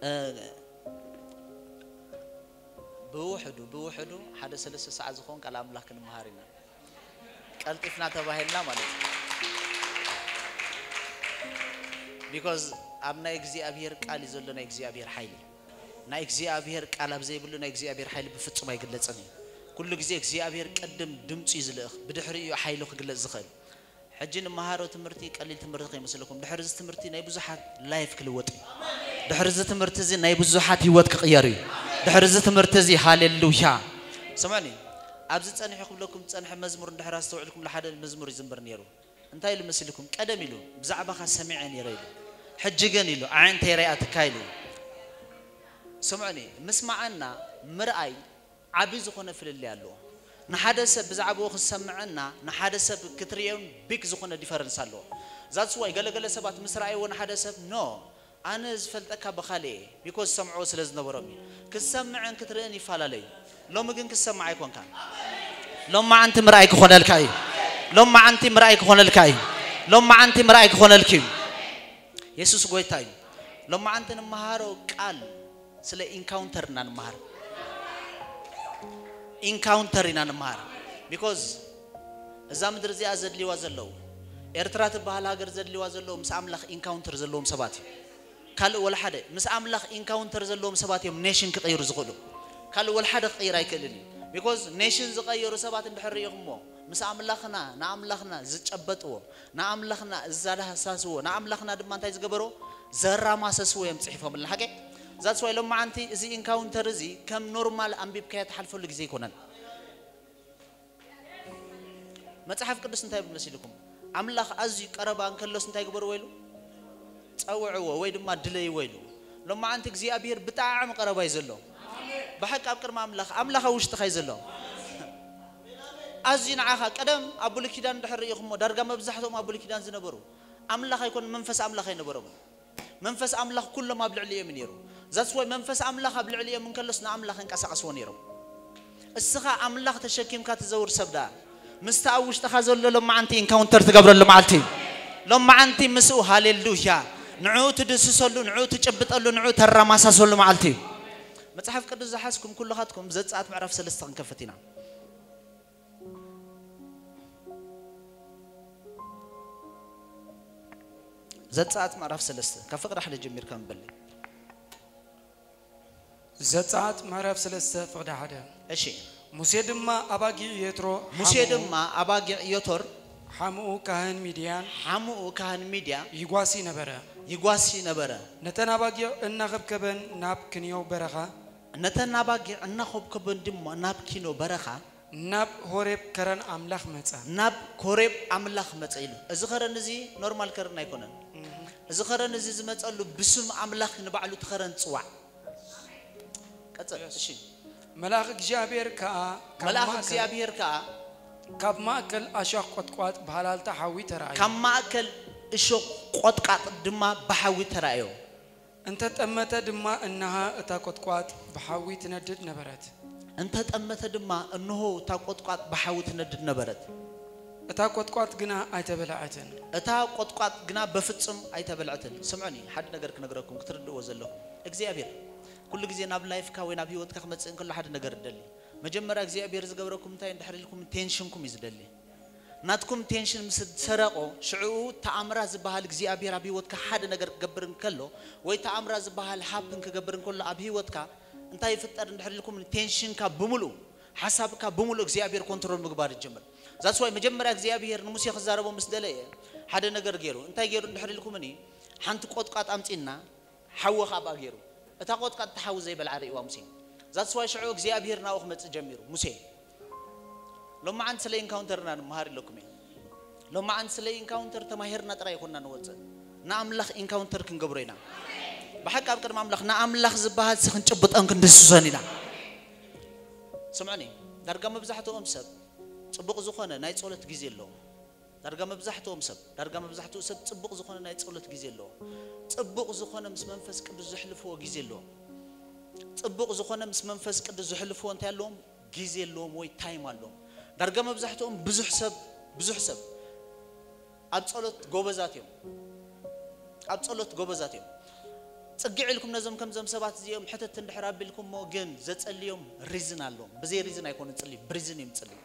እ፣ ብውሕዱ ብውሕዱ ሓደ ሰለስተ ሰዓት ዝኸውን ቃል ኣምላኽ ክንመሃር ኢና። ቀልጢፍና ተባሂልና ማለት እዩ። ቢኮዝ ኣብ ናይ እግዚኣብሔር ቃል እዩ ዘሎ ናይ እግዚኣብሔር ሓይሊ። ናይ እግዚኣብሔር ቃል ኣብ ዘይብሉ ናይ እግዚኣብሔር ሓይሊ ብፍጹም ኣይግለጽን እዩ። ኩሉ ግዜ እግዚኣብሔር ቅድም ድምጹ እዩ ዝልእኽ፣ ብድሕሪኡ እዩ ሓይሉ ክግለጽ ዝኽእል። ሕጂ ንመሃሮ ትምህርቲ ቀሊል ትምህርቲ ከይመስለኩም። ድሕሪ እዚ ትምህርቲ ናይ ብዙሓት ላይፍ ክልወጥ እዩ። ድሕሪ እዚ ትምህርቲ እዚ ናይ ብዙሓት ህይወት ክቕየር እዩ። ድሕሪ እዚ ትምህርቲ እዚ፣ ሃሌሉያ። ስምዑኒ፣ ኣብዚ ጸኒሑ ክብለኩም ዝጸንሐ መዝሙር እንድሕር ኣስተውዕልኩም፣ ሓደ መዝሙር ይዝምር ነይሩ። እንታይ ኢሉ መሲልኩም? ቀደም ኢሉ፣ "ብዛዕባኻ ሰሚዐ ነይረ" ኢሉ። "ሕጂ ግን" ኢሉ፣ "ኣዒንተይ ሪኣትካ" ኢሉ። ስምዑኒ፣ ምስማዕና ምርኣይ ዓቢ ዝኾነ ፍልልይ ኣለዎ። ንሓደ ሰብ ብዛዕባኡ ክሰምዐና ንሓደ ሰብ ክትርእዮን ቢግ ዝኾነ ዲፈረንስ ኣለዎ። ዛትስ ዋይ ገለገለ ሰባት ምስ ረኣይዎ ንሓደ ሰብ፣ "ኖ፣ ኣነ ዝፈልጠካ ብኻልእ እየ፣ ቢኮዝ ዝሰምዕዎ ስለ ዝነበሮም እዩ። ክሰምዕን ክትርእን ይፈላለዩ። ሎሚ ግን ክሰምዕ ኣይኮንካን። ሎማዓንቲ ምርኣይ ክኾነልካ እዩ። ሎማዓንቲ ምርኣይ ክኾነልካ እዩ። ሎማዓንቲ ምርኣይ ክኾነልኪ እዩ። የሱስ ጎይታ እዩ። ሎማዓንቲ ንመሃሮ ቃል ስለ ኢንካውንተር ኢና ንመሃር። ኢንካውንተር ኢና ንመሃር። ቢኮዝ እዛ ምድሪ እዚኣ ዘድልይዋ ዘለዉ፣ ኤርትራ ትበሃል ሃገር ዘድልይዋ ዘለዉ ምስ ኣምላኽ ኢንካውንተር ዘለዎም ሰባት እዩ። ካልእ ወላ ሓደ ምስ ኣምላኽ ኢንካውንተር ዘለዎም ሰባት እዮም ኔሽን ክቐይሩ ዝኽእሉ። ካልእ ወላ ሓደ ክቐይር ኣይክእልን እዩ። ቢኮዝ ኔሽን ዝቐየሩ ሰባት እንድሕር ርኢኹሞ፣ ምስ ኣምላኽና፣ ንኣምላኽና ዝጨበጥዎ፣ ንኣምላኽና ዝዳህሳስዎ፣ ንኣምላኽና ድማ እንታይ ዝገበሮ፣ ዘራማሰስዎ እዮም ጽሒፎምልና። ሓቂ? ዛትስ ዋይ ሎማዓንቲ እዚ ኢንካውንተር እዚ ከም ኖርማል ኣንቢብካዮ ትሓልፈሉ ግዜ ኣይኮነን። መጽሓፍ ቅዱስ እንታይ ይብል መሲልኩም? ኣምላኽ ኣዝዩ ቀረባ እንከሎስ እንታይ ግበርዎ ኢሉ? ጸውዕዎ ወይ ድማ ድለይዎ ኢሉ። ሎማዓንቲ እግዚኣብሔር ብጣዕሚ ቀረባ እዩ ዘሎ። ብሓቂ ኣብ ቅድሚ ኣምላኽ፣ ኣምላኽ ኣብ ውሽጥኻ እዩ ዘሎ። ኣዝዩ ንዓኻ፣ ቀደም ኣብ ብሉይ ኪዳን እንድሕር ርኢኹሞ፣ ዳርጋ መብዛሕትኦም ኣብ ብሉይ ኪዳን ዝነበሩ ኣምላኽ ኣይኮን፣ መንፈስ ኣምላኽ ኣይነበሮምን። መንፈስ ኣምላኽ ኩሎም ኣብ ልዕሊኦም እዩ ነይሩ። ዛትስ ዋይ መንፈስ ኣምላኽ ኣብ ልዕሊኦም እንከሎስ ንኣምላኽ እንቀሳቐስዎ ነይሮም። እስኻ ኣምላኽ ተሸኪምካ ትዘውር ሰብ ደኣ፣ ምስቲ ኣብ ውሽጥኻ ዘሎ ሎማዓንቲ ኢንካውንተር ትገብረሉ መዓልቲ እዩ። ሎማዓንቲ ምስኡ፣ ሃሌሉያ፣ ንዕኡ ትድስሰሉ፣ ንዕኡ ትጭብጠሉ፣ ንዕኡ ተረማሳሰሉ መዓልቲ እዩ። መጽሓፍ ቅዱስ ዝሓዝኩም ኩልኻትኩም ዘጸኣት ምዕራፍ ሰለስተ ክንከፍት ኢና። ዘጸኣት ምዕራፍ ሰለስተ፣ ካብ ፍቕዲ ሓደ ጀሚርካ ምበለይ። ዘጸኣት ምዕራፍ ሰለስተ ፍቕዲ ሓደ። እሺ። ሙሴ ድማ ኣባጊዕ የትሮ፣ ሙሴ ሓምኡ ድማ ኣባጊዕ ዮቶር፣ ሓምኡ ካህን ሚድያን፣ ሓምኡ ካህን ሚድያ፣ ይጓሲ ነበረ። ይጓሲ ነበረ። ነተን ኣባጊዕ እናኸብከበን ናብ ክንዮ በረኻ፣ ነተን ኣባጊዕ እናኸብከበን ድማ ናብ ኪኖ በረኻ፣ ናብ ሆሬብ ከረን ኣምላኽ መጸ። ናብ ኮሬብ ኣምላኽ መጸ ኢሉ። እዚ ከረን እዚ ኖርማል ከረን ኣይኮነን። እዚ ከረን እዚ ዝመጸሉ ብስም ኣምላኽ ንባዕሉ እቲ ከረን ጽዋዕ። ቀጽል። እሺ። መልኣኽ እግዚኣብሔር ከኣ ካብ መልኣኽ ማእከል እግዚኣብሔር ከኣ ካብ ማእከል ኣሻኽ ቆጥቋጥ ብሃላልታ ሓዊ ተራእዮ። ካብ ማእከል እሾኽ ቆጥቃጥ ድማ ብሓዊ ተራእዮ። እንተ ጠመተ ድማ እንሃ እታ ቆጥቋጥ ብሓዊ ትነድድ ነበረት። እንተ ጠመተ ድማ እንሆ እታ ቆጥቋጥ ብሓዊ ትነድድ ነበረት። እታ ቆጥቋጥ ግና ኣይተበልዐትን። እታ ቆጥቋጥ ግና በፍጹም ኣይተበልዐትን። ስምዑኒ፣ ሓደ ነገር ክነግረኩም ክትርድእዎ ዘለኹም። እግዚኣብሔር ኩሉ ግዜ ናብ ላይፍካ ወይ ናብ ህይወትካ ክመጽእ እንከሎ ሓደ ነገር እደሊ። መጀመርያ እግዚኣብሔር ዝገብረኩም እንታይ እንድሕር ኢልኩም ቴንሽንኩም እዩ ዝደሊ። ናትኩም ቴንሽን ምስ ሰረቆ ሽዕኡ ተኣምራ ዝበሃል እግዚኣብሔር ኣብ ህይወትካ ሓደ ነገር ክገብር እንከሎ ወይ ተኣምራ ዝበሃል ሃፕን ክገብር እንከሎ ኣብ ህይወትካ እንታይ ይፍጠር እንድሕር ኢልኩም ቴንሽንካ ብምሉእ ሓሳብካ ብምሉእ እግዚኣብሔር ኮንትሮል ምግባር ይጀምር። ዛትስ ዋይ መጀመርያ እግዚኣብሔር ንሙሴ ክዛረቦ ምስ ደለየ ሓደ ነገር ገይሩ እንታይ ገይሩ እንድሕር ኢልኩምኒ ሓንቲ ቆጥቋጥ ኣምጺና ሓዊ ካብኣ ገይሩ እታ ቆጥቃጥ እቲ ሓዊ ዘይበልዓ ርእይዋ ሙሴ። ዛትስ ዋይ ሽዑ እግዚኣብሔር ናብኡ ክመጽእ ጀሚሩ። ሙሴ ሎማዓንቲ ስለ ኢንካውንተርና ንምሃር ኢለኩም እየ። ሎማዓንቲ ስለ ኢንካውንተር ተማሂርና ጥራይ ይኮንና ንወፅእ፣ ንኣምላኽ ኢንካውንተር ክንገብሮ ኢና። ብሓቂ ኣብ ቅድሚ ኣምላኽ ንኣምላኽ ዝበሃል ሲ ክንጭብጦን ክንድስሶን ኢና። ስምዑኒ፣ ዳርጋ መብዛሕትኦም ሰብ ፅቡቕ ዝኾነ ናይ ጸሎት ግዜ ኣለዎም። ዳርጋ መብዛሕትኦም ሰብ ዳርጋ መብዛሕትኡ ሰብ ጽቡቕ ዝኾነ ናይ ጸሎት ግዜ ኣለዎ። ጽቡቕ ዝኾነ ምስ መንፈስ ቅዱስ ዘሕልፍዎ ግዜ ኣለዎም። ጽቡቕ ዝኾነ ምስ መንፈስ ቅዱስ ዘሕልፍዎ እንታይ ኣለዎም? ግዜ ኣለዎም ወይ ታይም ኣለዎም። ዳርጋ መብዛሕትኦም ብዙሕ ሰብ ብዙሕ ሰብ ኣብ ጸሎት ጎበዛት እዮም። ኣብ ጸሎት ጎበዛት እዮም። ጥግዕ ኢልኩም ነዞም ከምዞም ሰባት እዚኦም ሕተት እንድሕር ኣቢልኩሞ ግን ዘጸልዮም ሪዝን ኣለዎም። ብዘይ ሪዝን ኣይኮኑን ጽልዩ፣ ብሪዝን እዮም ጽልዩ።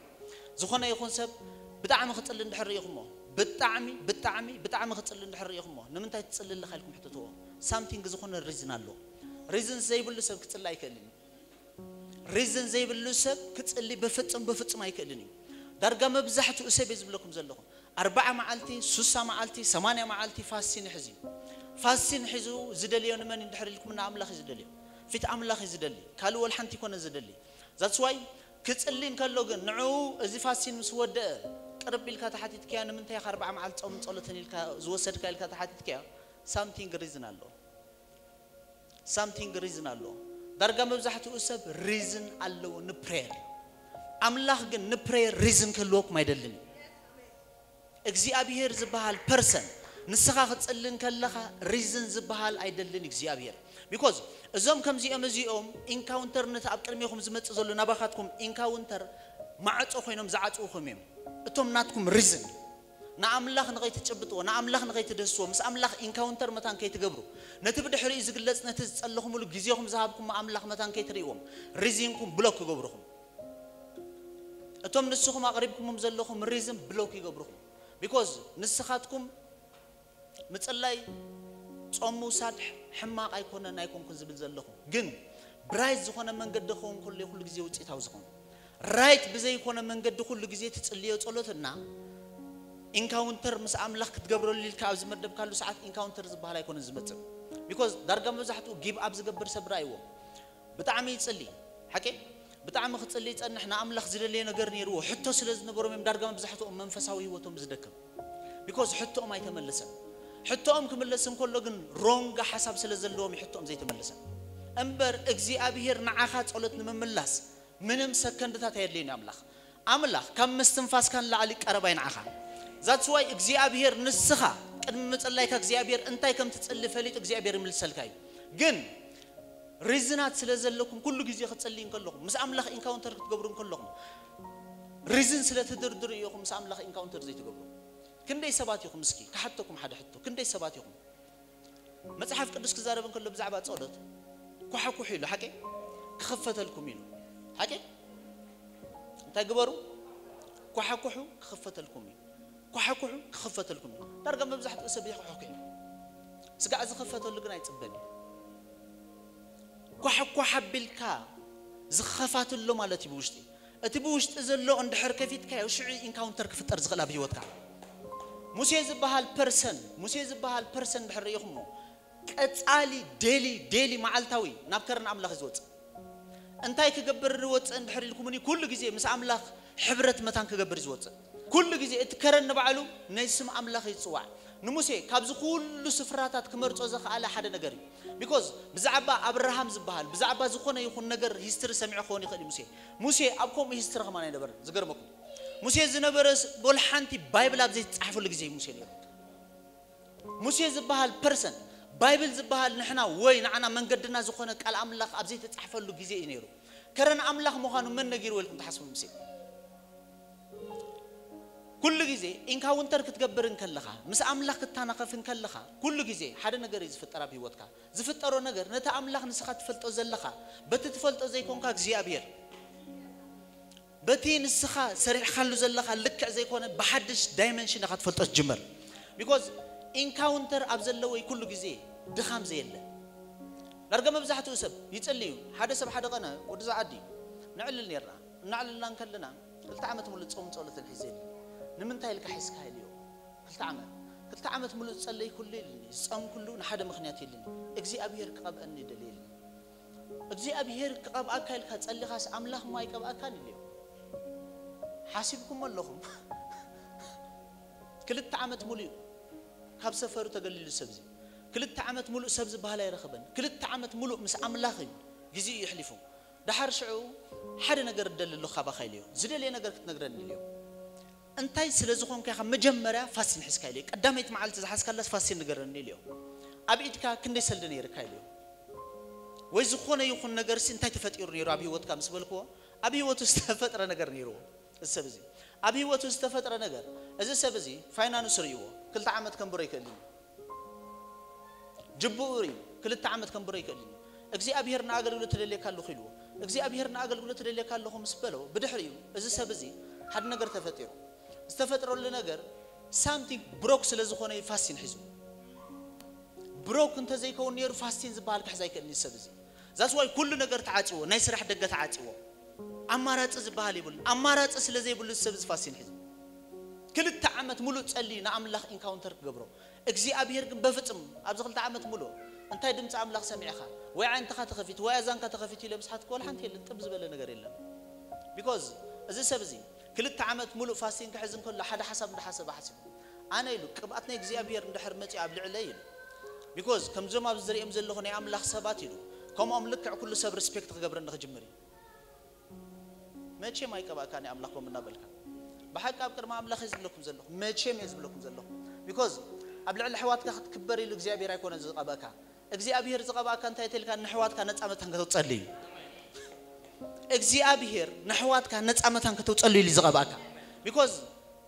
ዝኾነ ይኹን ሰብ ብጣዕሚ ክጽሊ እንድሕር ርኢኹሞ፣ ብጣዕሚ ብጣዕሚ ብጣዕሚ ክጽሊ እንድሕር ርኢኹሞ፣ ንምንታይ ትጽሊ ኣለኻ ኢልኩም ሕተትዎ። ሳምቲንግ ዝኾነ ሪዝን ኣለዎ። ሪዝን ዘይብሉ ሰብ ክጽሊ ኣይክእልን እዩ። ሪዝን ዘይብሉ ሰብ ክጽሊ ብፍጹም ብፍጹም ኣይክእልን እዩ። ዳርጋ መብዛሕትኡ ሰብ እየ ዝብለኩም ዘለኹ ኣርባዓ መዓልቲ፣ ሱሳ መዓልቲ፣ ሰማንያ መዓልቲ ፋስቲን ይሕዝ እዩ። ፋስቲን ሒዙ ዝደልዮ ንመን እንድሕር ኢልኩም ንኣምላኽ እዩ ዝደልዮ። ፊት ኣምላኽ እዩ ዝደሊ። ካልእ ወላ ሓንቲ ይኮነ ዝደሊ። ዛትስ ዋይ ክጽሊ እንከሎ ግን ንዕኡ እዚ ፋስቲን ምስ ወደአ ቅርብ ኢልካ ተሓቲትካዮ ንምንታይ ኢኻ ኣርባዓ መዓልቲ ጾምን ጸሎትን ኢልካ ዝወሰድካ ኢልካ ተሓቲትካዮ ሳምቲንግ ሪዝን ኣሎ። ሳምቲንግ ሪዝን ኣሎ። ዳርጋ መብዛሕትኡ ሰብ ሪዝን ኣለዎ ንፕሬየር። ኣምላኽ ግን ንፕሬየር ሪዝን ክህልወኩም ኣይደልን እዩ። እግዚኣብሄር ዝበሃል ፐርሰን ንስኻ ክጽሊ እንከለኻ ሪዝን ዝበሃል ኣይደልን እግዚኣብሄር። ቢኮዝ እዞም ከምዚኦም እዚኦም ኢንካውንተር ነቲ ኣብ ቅድሜኹም ዝመጽእ ዘሎ ናባኻትኩም ኢንካውንተር ማዕጾ ኮይኖም ዝዓጽውኹም እዮም። እቶም ናትኩም ሪዝን ንኣምላኽ ንኸይትጭብጥዎ ንኣምላኽ ንኸይትደስዎ ምስ ኣምላኽ ኢንካውንተር መታን ከይትገብሩ ነቲ ብድሕሪኡ ዝግለጽ ነቲ ዝጸለኹምሉ ግዜኹም ዝሃብኩም ኣምላኽ መታን ከይትርእይዎም ሪዝንኩም ብሎክ ክገብሩኹም እቶም ንስኹም ኣቕሪብኩሞም ዘለኹም ሪዝን ብሎክ ይገብሩኹም ቢኮዝ ንስኻትኩም ምጽላይ ጾም ምውሳድ ሕማቕ ኣይኮነን ኣይኮንኩን ዝብል ዘለኹ ግን ብራይት ዝኾነ መንገዲ ክኸውን ከሎ ኩሉ ግዜ ውፅኢታዊ ዝኾን ራይት ብዘይኮነ መንገዲ ኩሉ ግዜ ትጽልዮ ጸሎትና ኢንካውንተር ምስ ኣምላኽ ክትገብረሉ ኢልካ ኣብ ዝመደብካሉ ሰዓት ኢንካውንተር ዝበሃል ኣይኮነን ዝመጽእ ቢኮዝ ዳርጋ መብዛሕትኡ ጊብ ኣብ ዝገብር ሰብ ራእይዎ ብጣዕሚ ይጽሊ ሓቂ ብጣዕሚ ክጽሊ ይጸንሕ ንኣምላኽ ዝደለየ ነገር ነይርዎ ሕቶ ስለ ዝነበሮም እዮም ዳርጋ መብዛሕትኦም መንፈሳዊ ህይወቶም ዝደክም ቢኮዝ ሕቶኦም ኣይተመለሰን ሕቶኦም ክምለስ እንከሎ ግን ሮንግ ሓሳብ ስለ ዘለዎም ሕቶኦም ዘይተመለሰን እምበር እግዚኣብሄር ንዓኻ ጸሎት ንምምላስ ምንም ሰከንድታት ኣየድልዩን ኣምላኽ ኣምላኽ ካብ ምስትንፋስካ ንላዕሊ ቀረባይ ንዓኻ ዛትስዋይ እግዚኣብሄር ንስኻ ቅድሚ ምጽላይካ እግዚኣብሄር እንታይ ከም ትጽሊ ፈሊጡ እግዚኣብሄር ይምልሰልካ እዩ ግን ሪዝናት ስለ ዘለኩም ኩሉ ግዜ ክጽልይ እንከለኹም ምስ ኣምላኽ ኢንካውንተር ክትገብሩ እንከለኹም ሪዝን ስለ ትድርድሩ ኢኹም ምስ ኣምላኽ ኢንካውንተር ዘይትገብሩ ክንደይ ሰባት ኢኹም እስኪ ክሓተኩም ሓደ ሕቶ ክንደይ ሰባት ኢኹም መጽሓፍ ቅዱስ ክዛረብ እንከሎ ብዛዕባ ጸሎት ኳሓኩሑ ኢሉ ሓቂ ክኽፈተልኩም ኢሉ ሓቂ እንታይ ግበሩ ኳሓኩሑ ክኽፈተልኩም እዩ ኳሓኩሑ ክኽፈተልኩም እዩ ዳርጋ መብዛሕትኡ ሰብ ይኳሕኩሕ እዩ ስጋዕ ዝኽፈተሉ ግን ኣይጽበን እዩ ኳሕኳሕ ኣቢልካ ዝኸፋትሎ ማለት እዩ ብውሽጢ እቲ ብውሽጢ ዘሎ እንድሕር ከፊትካዮ ሽዑ ኢንካውንተር ክፍጠር ዝኽእል ኣብ ህይወትካ ሙሴ ዝበሃል ፐርሰን ሙሴ ዝበሃል ፐርሰን እንድሕር ርኢኹሞ ቀጻሊ ዴሊ ዴሊ መዓልታዊ ናብ ከረን ኣምላኽ ዝወፅእ እንታይ ክገብር ዝወፅእ እንድሕር ኢልኩምኒ ኩሉ ግዜ ምስ ኣምላኽ ሕብረት መታን ክገብር ዝወፅእ ኩሉ ግዜ እቲ ከረን ንባዕሉ ናይ ስም ኣምላኽ ይፅዋዕ ንሙሴ ካብዚ ኩሉ ስፍራታት ክመርፆ ዘኽኣለ ሓደ ነገር እዩ ቢኮዝ ብዛዕባ ኣብርሃም ዝበሃል ብዛዕባ ዝኾነ ይኹን ነገር ሂስትሪ ሰሚዑ ክኸውን ይኽእል እዩ ሙሴ ሙሴ ኣብ ከምኡ ሂስትሪ ከማን ኣይነበረን ዝገርመኩም ሙሴ ዝነበረ ወላ ሓንቲ ባይብል ኣብ ዘይተፃሕፈሉ ግዜ እዩ ሙሴ ነይሩ ሙሴ ዝበሃል ፐርሰን ባይብል ዝበሃል ንሕና ወይ ንዓና መንገድና ዝኾነ ቃል ኣምላኽ ኣብ ዘይተፃሕፈሉ ግዜ እዩ ነይሩ ከረን ኣምላኽ ምዃኑ መን ነጊርዎ ኢልኩም ትሓስቡ ሙሴ ኩሉ ግዜ ኢንካውንተር ክትገብር እንከለኻ ምስ ኣምላኽ ክትታናኸፍ እንከለኻ ኩሉ ግዜ ሓደ ነገር እዩ ዝፍጠር ኣብ ህይወትካ ዝፍጠሮ ነገር ነቲ ኣምላኽ ንስኻ ትፈልጦ ዘለኻ በቲ ትፈልጦ ዘይኮንካ እግዚኣብሔር በቲ ንስኻ ሰሪሕካሉ ዘለኻ ልክዕ ዘይኮነ ብሓድሽ ዳይመንሽን ኢኻ ትፈልጦ ትጅምር ቢኮዝ ኢንካውንተር ኣብ ዘለወይ ኩሉ ግዜ ድኻም ዘየለ ዳርጋ መብዛሕትኡ ሰብ ይጽሊ እዩ ሓደ ሰብ ሓደ ቀነ ወዲ ዝዓዲ ነዕልል ነርና እናዕልልና እንከለና ክልተ ዓመት ሙሉእ ጾም ጸሎትን ሒዘ የለን ንምንታይ ኢልካ ሒዝካ ኢልዮ ክልተ ዓመት ክልተ ዓመት ሙሉእ ዝጸለይ ኩሉ ኢልኒ ዝጸም ኩሉ ንሓደ ምክንያት ኢልኒ እግዚኣብሔር ክቐብአኒ ይደሊ ኢልኒ እግዚኣብሔር ክቐብኣካ ኢልካ ጸሊኻስ ኣምላኽ እሞ ኣይቀብኣካን ኢልዮ ሓሲብኩም ኣለኹም ክልተ ዓመት ሙሉእ ካብ ሰፈሩ ተገሊሉ ሰብዚ ክልተ ዓመት ሙሉእ ሰብ ዝበሃል ኣይረኸበን ክልተ ዓመት ሙሉእ ምስ ኣምላኽ እዩ ግዜኡ ይሕሊፉ ደሓር ሽዑ ሓደ ነገር እደሊ ኣለኹ ካባኻ ኢልዮ ዝደልየ ነገር ክትነግረኒ ኢልዮ እንታይ ስለ ዝኾንካ ኢኻ መጀመርያ ፋሲን ሒዝካ ኢልዮ ቀዳመይቲ መዓልቲ ዝሓዝካላስ ፋሲን ንገረኒ ኢልዮ ኣብ ኢድካ ክንደይ ሰልዲ ነይርካ ኢልዮ ወይ ዝኾነ ይኹን ነገርሲ እንታይ ተፈጢሩ ነይሩ ኣብ ህይወትካ ምስ በልክዎ ኣብ ህይወቱ ዝተፈጥረ ነገር ነይርዎ እዚ ሰብ እዚ ኣብ ህይወቱ ዝተፈጥረ ነገር እዚ ሰብ እዚ ፋይናንስ ርእይዎ ክልተ ዓመት ከንብሮ ይክእል እዩ ጅብኡ እዩ። ክልተ ዓመት ከንብሮ ይክእል እዩ። እግዚኣብሔር ንኣገልግሎት ትደልየካ ኣለኹ ኢልዎ። እግዚኣብሔር ንኣገልግሎት ትደልየካ ኣለኹ ምስ በሎ፣ ብድሕሪኡ እዚ ሰብ እዚ ሓደ ነገር ተፈጢሩ። ዝተፈጥረሉ ነገር ሳምቲንግ ብሮክ ስለ ዝኾነ እዩ ፋስቲን ሒዙ። ብሮክ እንተዘይከውን ነይሩ ፋስቲን ዝበሃል ክሕዝ ኣይክእልን እዩ ሰብ እዚ። ዛስ ዋይ ኩሉ ነገር ተዓፅዎ፣ ናይ ስራሕ ደገ ተዓፅዎ። ኣማራፂ ዝበሃል የብሉን። ኣማራፂ ስለ ዘይብሉ ሰብ እዚ ፋስቲን ሒዙ ክልተ ዓመት ሙሉእ ጸልዩ ንኣምላኽ ኢንካውንተር ክገብሮ። እግዚኣብሔር ግን በፍጹም ኣብዚ ክልተ ዓመት ሙሉእ እንታይ ድምፂ ኣምላኽ ሰሚዕኻ ወይ ዓይንትኻ ተኸፊቱ ወይ ኣዛንካ ተኸፊቱ ኢለ ምስሓትኩ ወላ ሓንቲ የለን፣ ጥብ ዝበለ ነገር የለን። ቢኮዝ እዚ ሰብ እዚ ክልተ ዓመት ሙሉእ ፋስቲን ክሕዝ እንከሎ ሓደ ሓሳብ እንዳሓሰበ ሓሲቡ ኣነ ኢሉ ቅብኣት ናይ እግዚኣብሔር እንድሕር መፂኡ ኣብ ልዕለይ ኢሉ። ቢኮዝ ከምዞም ኣብዚ ዝሪኦም ዘለኹ ናይ ኣምላኽ ሰባት ኢሉ ከምኦም ልክዕ ኩሉ ሰብ ሪስፔክት ክገብረኒ ክጅምር እዩ። መቼም ኣይቀባእካን ኣምላኽ ከም እናበልካ ብሓቂ ኣብ ቅድሚ ኣምላኽ እየ ዝብለኩም ዘለኹ። መቼም እየ ዝብለኩም ዘለኹ። ቢኮዝ ኣብ ልዕሊ ኣሕዋትካ ክትክበር ኢሉ እግዚኣብሔር ኣይኮነን ዝቐበእካ። እግዚኣብሔር ዝቐባእካ እንታይ ተልካ ንሕዋትካ ነፃ መታን ከተውፀሉ እዩ። እግዚኣብሔር ንሕዋትካ ነፃ መታን ከተውፀሉ ኢሉ ዝቐባእካ። ቢኮዝ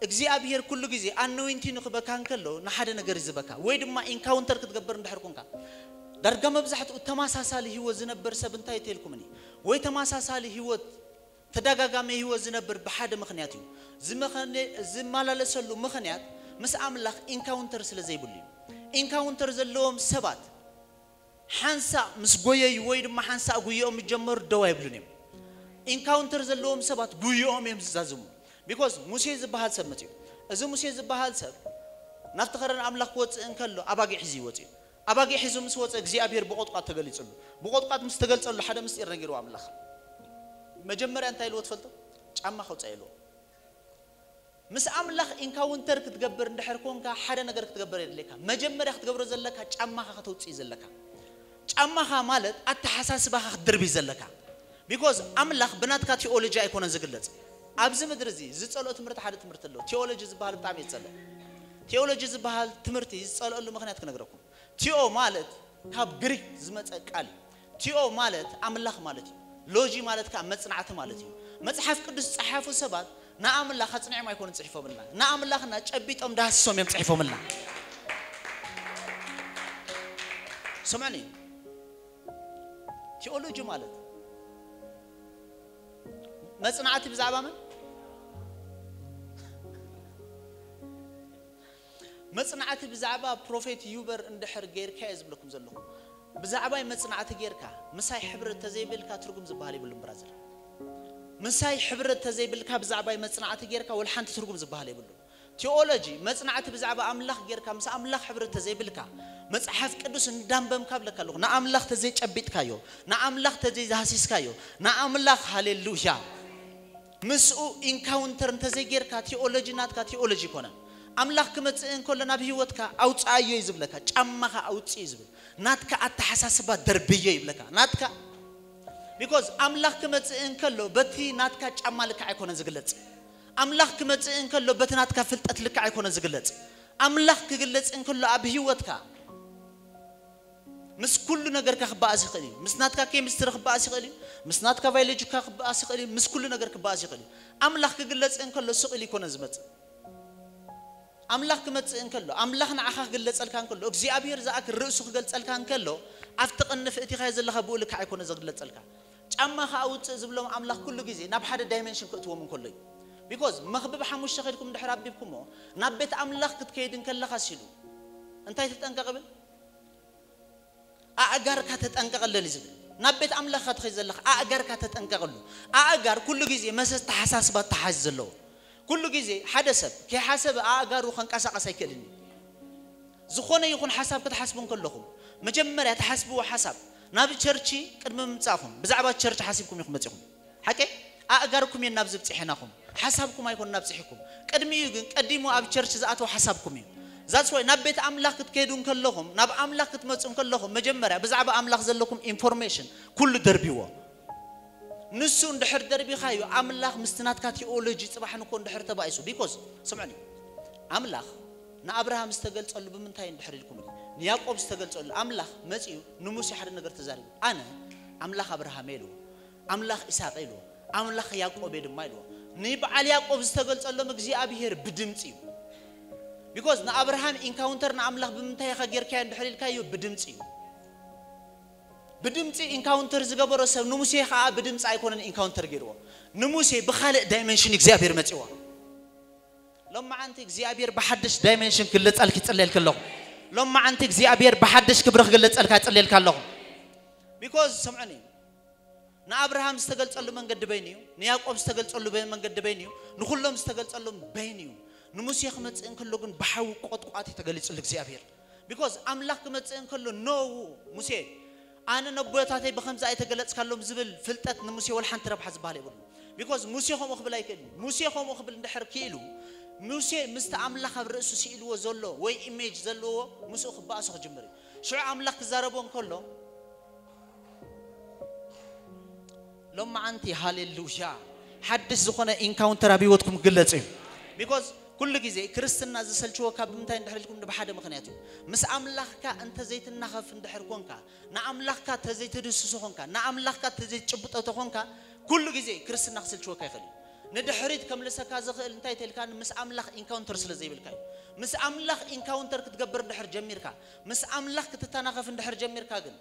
እግዚኣብሔር ኩሉ ግዜ ኣኖይንቲ ንክበካ እንከሎ ንሓደ ነገር ይዝበካ ወይ ድማ ኢንካውንተር ክትገብር እንድሕር ኮንካ ዳርጋ መብዛሕትኡ ተመሳሳሊ ህይወት ዝነበር ሰብ እንታይ ተልኩምኒ ወይ ተመሳሳሊ ህይወት ተደጋጋሚ ህይወት ዝነብር ብሓደ ምኽንያት እዩ። ዝመኸነ- ዝመላለሰሉ ምኽንያት ምስ ኣምላኽ ኢንካውንተር ስለ ዘይብሉ እዩ። ኢንካውንተር ዘለዎም ሰባት ሓንሳእ ምስ ጎየዩ ወይ ድማ ሓንሳእ ጉየኦም ዝጀመሩ ደው ኣይብሉን እዮም። ኢንካውንተር ዘለዎም ሰባት ጉየኦም እዮም ዝዛዝሙ። ቢኮዝ ሙሴ ዝበሃል ሰብ መፅኡ። እዚ ሙሴ ዝበሃል ሰብ ናብቲ ከረን ኣምላኽ ክወፅእ እንከሎ ኣባጊዕ ሒዙ ይወፅእ እዩ። ኣባጊዕ ሒዙ ምስ ወፀ እግዚኣብሔር ብቆጥቋጥ ተገሊፅሉ። ብቆጥቋጥ ምስ ተገልፀሉ ሓደ ምስጢር ነጊርዎ ኣምላኽ። መጀመርያ እንታይ ኢልዎ ትፈልጡ? ጫማ ከውፅእ ኢልዎ። ምስ ኣምላኽ ኢንካውንተር ክትገብር እንድሕር ኮንካ ሓደ ነገር ክትገብር የድልየካ። መጀመርያ ክትገብሮ ዘለካ ጫማኻ ከተውፅእ ዘለካ። ጫማኻ ማለት ኣተሓሳስባኻ ክትድርቢ ዘለካ። ቢኮዝ ኣምላኽ ብናትካ ቲኦሎጂ ኣይኮነን ዝግለጽ። ኣብዚ ምድሪ እዚ ዝጸልኦ ትምህርቲ ሓደ ትምህርቲ ኣሎ። ቲኦሎጂ ዝበሃል ብጣዕሚ እየ ዝጸልእ። ቲኦሎጂ ዝበሃል ትምህርቲ ዝጸልአሉ ምኽንያት ክነግረኩም። ቲኦ ማለት ካብ ግሪክ ዝመጸ ቃል እዩ። ቲኦ ማለት ኣምላኽ ማለት እዩ። ሎጂ ማለት ከዓ መጽናዕቲ ማለት እዩ። መጽሓፍ ቅዱስ ዝጸሓፉ ሰባት ንኣምላኽ ኣጽኒዖም ኣይኮኑን ጽሒፎምልና። ንኣምላኽና ጨቢጦም ዳህስሶም እዮም ጽሒፎምልና። ስምዕኒ፣ ቲኦሎጂ ማለት መጽናዕቲ ብዛዕባ መን? መጽናዕቲ ብዛዕባ ፕሮፌት ዩበር እንድሕር ጌርካ እየ ዝብለኩም ዘለኹ። ብዛዕባይ መጽናዕቲ ጌርካ ምሳይ ሕብረት ተዘይብልካ ትርጉም ዝበሃል የብሉን ብራዘር። ምሳይ ሕብረት ተዘይብልካ ብዛዕባይ መጽናዕቲ ጌርካ ወላ ሓንቲ ትርጉም ዝበሃል የብሉን። ቲኦሎጂ መጽናዕቲ ብዛዕባ ኣምላኽ ጌርካ ምስ ኣምላኽ ሕብረት ተዘይብልካ መጽሓፍ ቅዱስ እንዳንበምካ ብለካ ኣለኹ ንኣምላኽ ተዘይጨቢጥካዮ ንኣምላኽ ተዘይዛህሲስካዮ ንኣምላኽ ሃሌሉያ ምስኡ ኢንካውንተር እንተዘይጌርካ ቲኦሎጂ ናትካ ቲኦሎጂ ይኮነን። ኣምላኽ ክመጽእ እንከሎ ናብ ህይወትካ ኣውፅኣዮ እዩ ዝብለካ። ጫማኻ ኣውፅእ እዩ ዝብል። ናትካ ኣተሓሳስባ ደርብዮ ይብለካ። ናትካ ቢኮዝ ኣምላኽ ክመጽእ እንከሎ በቲ ናትካ ጫማ ልክዕ ኣይኮነን ዝግለጽ። ኣምላኽ ክመጽእ እንከሎ በቲ ናትካ ፍልጠት ልክዕ ኣይኮነን ዝግለጽ። ኣምላኽ ክግለጽ እንከሎ ኣብ ህይወትካ ምስ ኩሉ ነገርካ ክበኣስ ይኽእል እዩ። ምስ ናትካ ኬሚስትሪ ክበኣስ ይኽእል እዩ። ምስ ናትካ ባዮሎጂካ ክበኣስ ይኽእል እዩ። ምስ ኩሉ ነገር ክበኣስ ይኽእል እዩ። ኣምላኽ ክግለጽ እንከሎ ስቕ ኢሉ ይኮነን ዝመጽእ። ኣምላኽ ክመጽእ እንከሎ፣ ኣምላኽ ንዓኻ ክግለጸልካ እንከሎ፣ እግዚኣብሔር ዝኣክል ርእሱ ክገልጸልካ እንከሎ፣ ኣብቲ ቅንፍ እቲኻዮ ዘለኻ ብኡ ልክዕ ኣይኮነ ዝግለጸልካ። ጫማ ከኣ ውጽእ ዝብሎም ኣምላኽ ኩሉ ግዜ ናብ ሓደ ዳይመንሽን ክእትዎም እንከሎ እዩ። ቢኮዝ መኽብብ ሓሙሽተ ከድኩም ድሕር ኣቢብኩሞ ናብ ቤት ኣምላኽ ክትከይድ እንከለኻ ሲሉ እንታይ ተጠንቀቕ ብል? ኣእጋርካ ተጠንቀቐለን እዩ ዝብል። ናብ ቤት ኣምላኽካ ትኸይድ ዘለኻ ኣእጋርካ ተጠንቀቐሉ። ኣእጋር ኩሉ ግዜ መሰ ተሓሳስባ ተሓዝ ዘለዎ ኩሉ ግዜ ሓደ ሰብ ከይሓሰበ ኣእጋሩ ከንቀሳቐስ ኣይክእልን እዩ። ዝኾነ ይኹን ሓሳብ ክትሓስቡ እንከለኹም መጀመርያ ትሓስብዎ ሓሳብ ናብ ቸርቺ ቅድሚ ምምጻእኹም ብዛዕባ ቸርች ሓሲብኩም ኢኹም መጺኹም። ሓቂ ኣእጋርኩም እየን ናብ ዝብጽሐናኹም ሓሳብኩም ኣይኮን ናብ ጽሒኩም። ቅድሚኡ ግን ቀዲሙ ኣብ ቸርች ዝኣተው ሓሳብኩም እዩ። ዛትስ ዋይ ናብ ቤት ኣምላኽ ክትከይዱ እንከለኹም ናብ ኣምላኽ ክትመጹ እንከለኹም መጀመርያ ብዛዕባ ኣምላኽ ዘለኩም ኢንፎርሜሽን ኩሉ ደርቢዎ። ንሱ እንድሕር ደርቢኻዮ ኣምላኽ ምስቲ ናትካ ቲኦሎጂ ጽባሕ ንኮ እንድሕር ተባኢሱ ቢኮዝ ስምዕኒ ኣምላኽ ንኣብርሃም ዝተገልጸሉ ብምንታይ እንድሕር ኢልኩም ንያዕቆብ ዝተገልጸሉ ኣምላኽ መጺኡ ንሙሴ ሓደ ነገር ተዛሪቡ ኣነ ኣምላኽ ኣብርሃም እየ ኢልዎ። ኣምላኽ ኢሳቅ ኢልዎ ኣምላኽ ያዕቆብ እየ ድማ ኢልዎ። ንበዓል ያዕቆብ ዝተገልጸሎም እግዚኣብሔር ብድምፂ እዩ። because ንኣብርሃም ኢንካውንተር ንኣምላኽ ብምንታይ ኢኻ ጌርካዮ እንድሕር ኢልካዮ፣ ብድምፂ እዩ። ብድምፂ ኢንካውንተር ዝገበሮ ሰብ ንሙሴ ከዓ ብድምፂ ኣይኮነን ኢንካውንተር ገይርዎ። ንሙሴ ብኻልእ ዳይመንሽን እግዚኣብሔር መፂዎ። ሎማዓንቲ እግዚኣብሔር ብሓድሽ ዳይመንሽን ክግለፀልኪ ይፅለየልኪ ኣለኹ። ሎማዓንቲ እግዚኣብሔር ብሓድሽ ክብሪ ክግለፀልካ ይፅለየልካ ኣለኹ። Because ሰምዑኒ፣ ንኣብርሃም ዝተገልጸሉ መንገዲ በይኑ እዩ። ንያዕቆብ ዝተገልጸሉ በ- መንገዲ በይኑ እዩ። ንኹሎም ዝተገልጸሎም በይኑ እዩ። ንሙሴ ክመጽእ እንከሎ ግን ብሓዊ ቆጥቋጥ እዩ ተገሊጹሉ እግዚኣብሔር። Because ኣምላኽ ክመጽእ እንከሎ፣ ኖ፣ ሙሴ፣ ኣነ ነቦታተይ ብኸምዚ ኣይተገለጽካሎም ዝብል ፍልጠት ንሙሴ ወላ ሓንቲ ረብሓ ዝበሃል የብሉ። Because ሙሴ ከምኡ ክብል ኣይክእልን። ሙሴ ከምኡ ክብል እንድሕር ክኢሉ፣ ሙሴ ምስቲ ኣምላኽ ኣብ ርእሱ ስኢልዎ ዘሎ ወይ ኢሜጅ ዘለዎ ምስኡ ክበኣሶ ክጅምር እዩ። ሽዑ ኣምላኽ ክዛረቦ እንከሎ፣ ሎማዓንቲ ሃሌሉያ፣ ሓድሽ ዝኾነ ኢንካውንተር ኣብ ህይወትኩም ክግለጽ እዩ። Because ኩሉ ግዜ ክርስትና ዝሰልችወካ ብምንታይ እንድሕር ኢልኩም፣ ብሓደ ምኽንያት እዩ። ምስ ኣምላኽካ እንተ ዘይትናኸፍ እንድሕር ኮንካ፣ ንኣምላኽካ እንተ ዘይትድስሶ ኮንካ፣ ንኣምላኽካ እንተ ዘይትጭብጦ ተኾንካ፣ ኩሉ ግዜ ክርስትና ክስልችወካ ይኽእል እዩ። ንድሕሪት ከምልሰካ ዝኽእል እንታይ ተልካ፣ ምስ ኣምላኽ ኢንካውንተር ስለ ዘይብልካ እዩ። ምስ ኣምላኽ ኢንካውንተር ክትገብር እንድሕር ጀሚርካ፣ ምስ ኣምላኽ ክትተናኸፍ እንድሕር ጀሚርካ ግን፣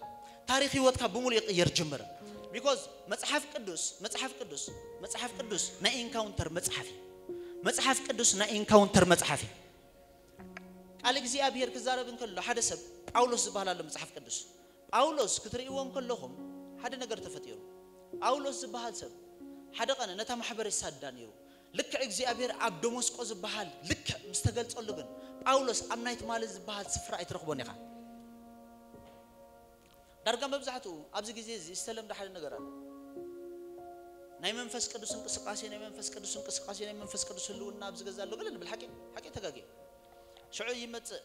ታሪኽ ህይወትካ ብምሉእ ይቕየር ጅምር። Because መጽሓፍ ቅዱስ መጽሓፍ ቅዱስ መጽሓፍ ቅዱስ ናይ ኢንካውንተር መጽሓፍ እዩ። መጽሓፍ ቅዱስ ናይ ኢንካውንተር መጽሓፍ እዩ። ቃል እግዚኣብሔር ክዛረብ እንከሎ፣ ሓደ ሰብ ጳውሎስ ዝበሃል ኣሎ። መጽሓፍ ቅዱስ ጳውሎስ ክትርእይዎ እንከለኹም፣ ሓደ ነገር ተፈጢሩ። ጳውሎስ ዝበሃል ሰብ ሓደ ቀነ ነታ ማሕበር የሳዳ ነይሩ። ልክዕ እግዚኣብሔር ኣብ ደመስቆ ዝበሃል ልክዕ ምስ ተገልጸሉ ግን፣ ጳውሎስ ኣብ ናይ ትማሊ ዝበሃል ስፍራ ኣይትረኽቦን ኢኻ። ዳርጋ መብዛሕትኡ ኣብዚ ግዜ እዚ ዝተለምደ ሓደ ነገር ኣሎ። ናይ መንፈስ ቅዱስ እንቅስቃሴ፣ ናይ መንፈስ ቅዱስ እንቅስቃሴ፣ ናይ መንፈስ ቅዱስ ህልውና ኣብዚ ገዛ ኣሎ ገለ ንብል። ሓቂ ሓቂ ተጋጌ። ሽዑ ይመጽእ፣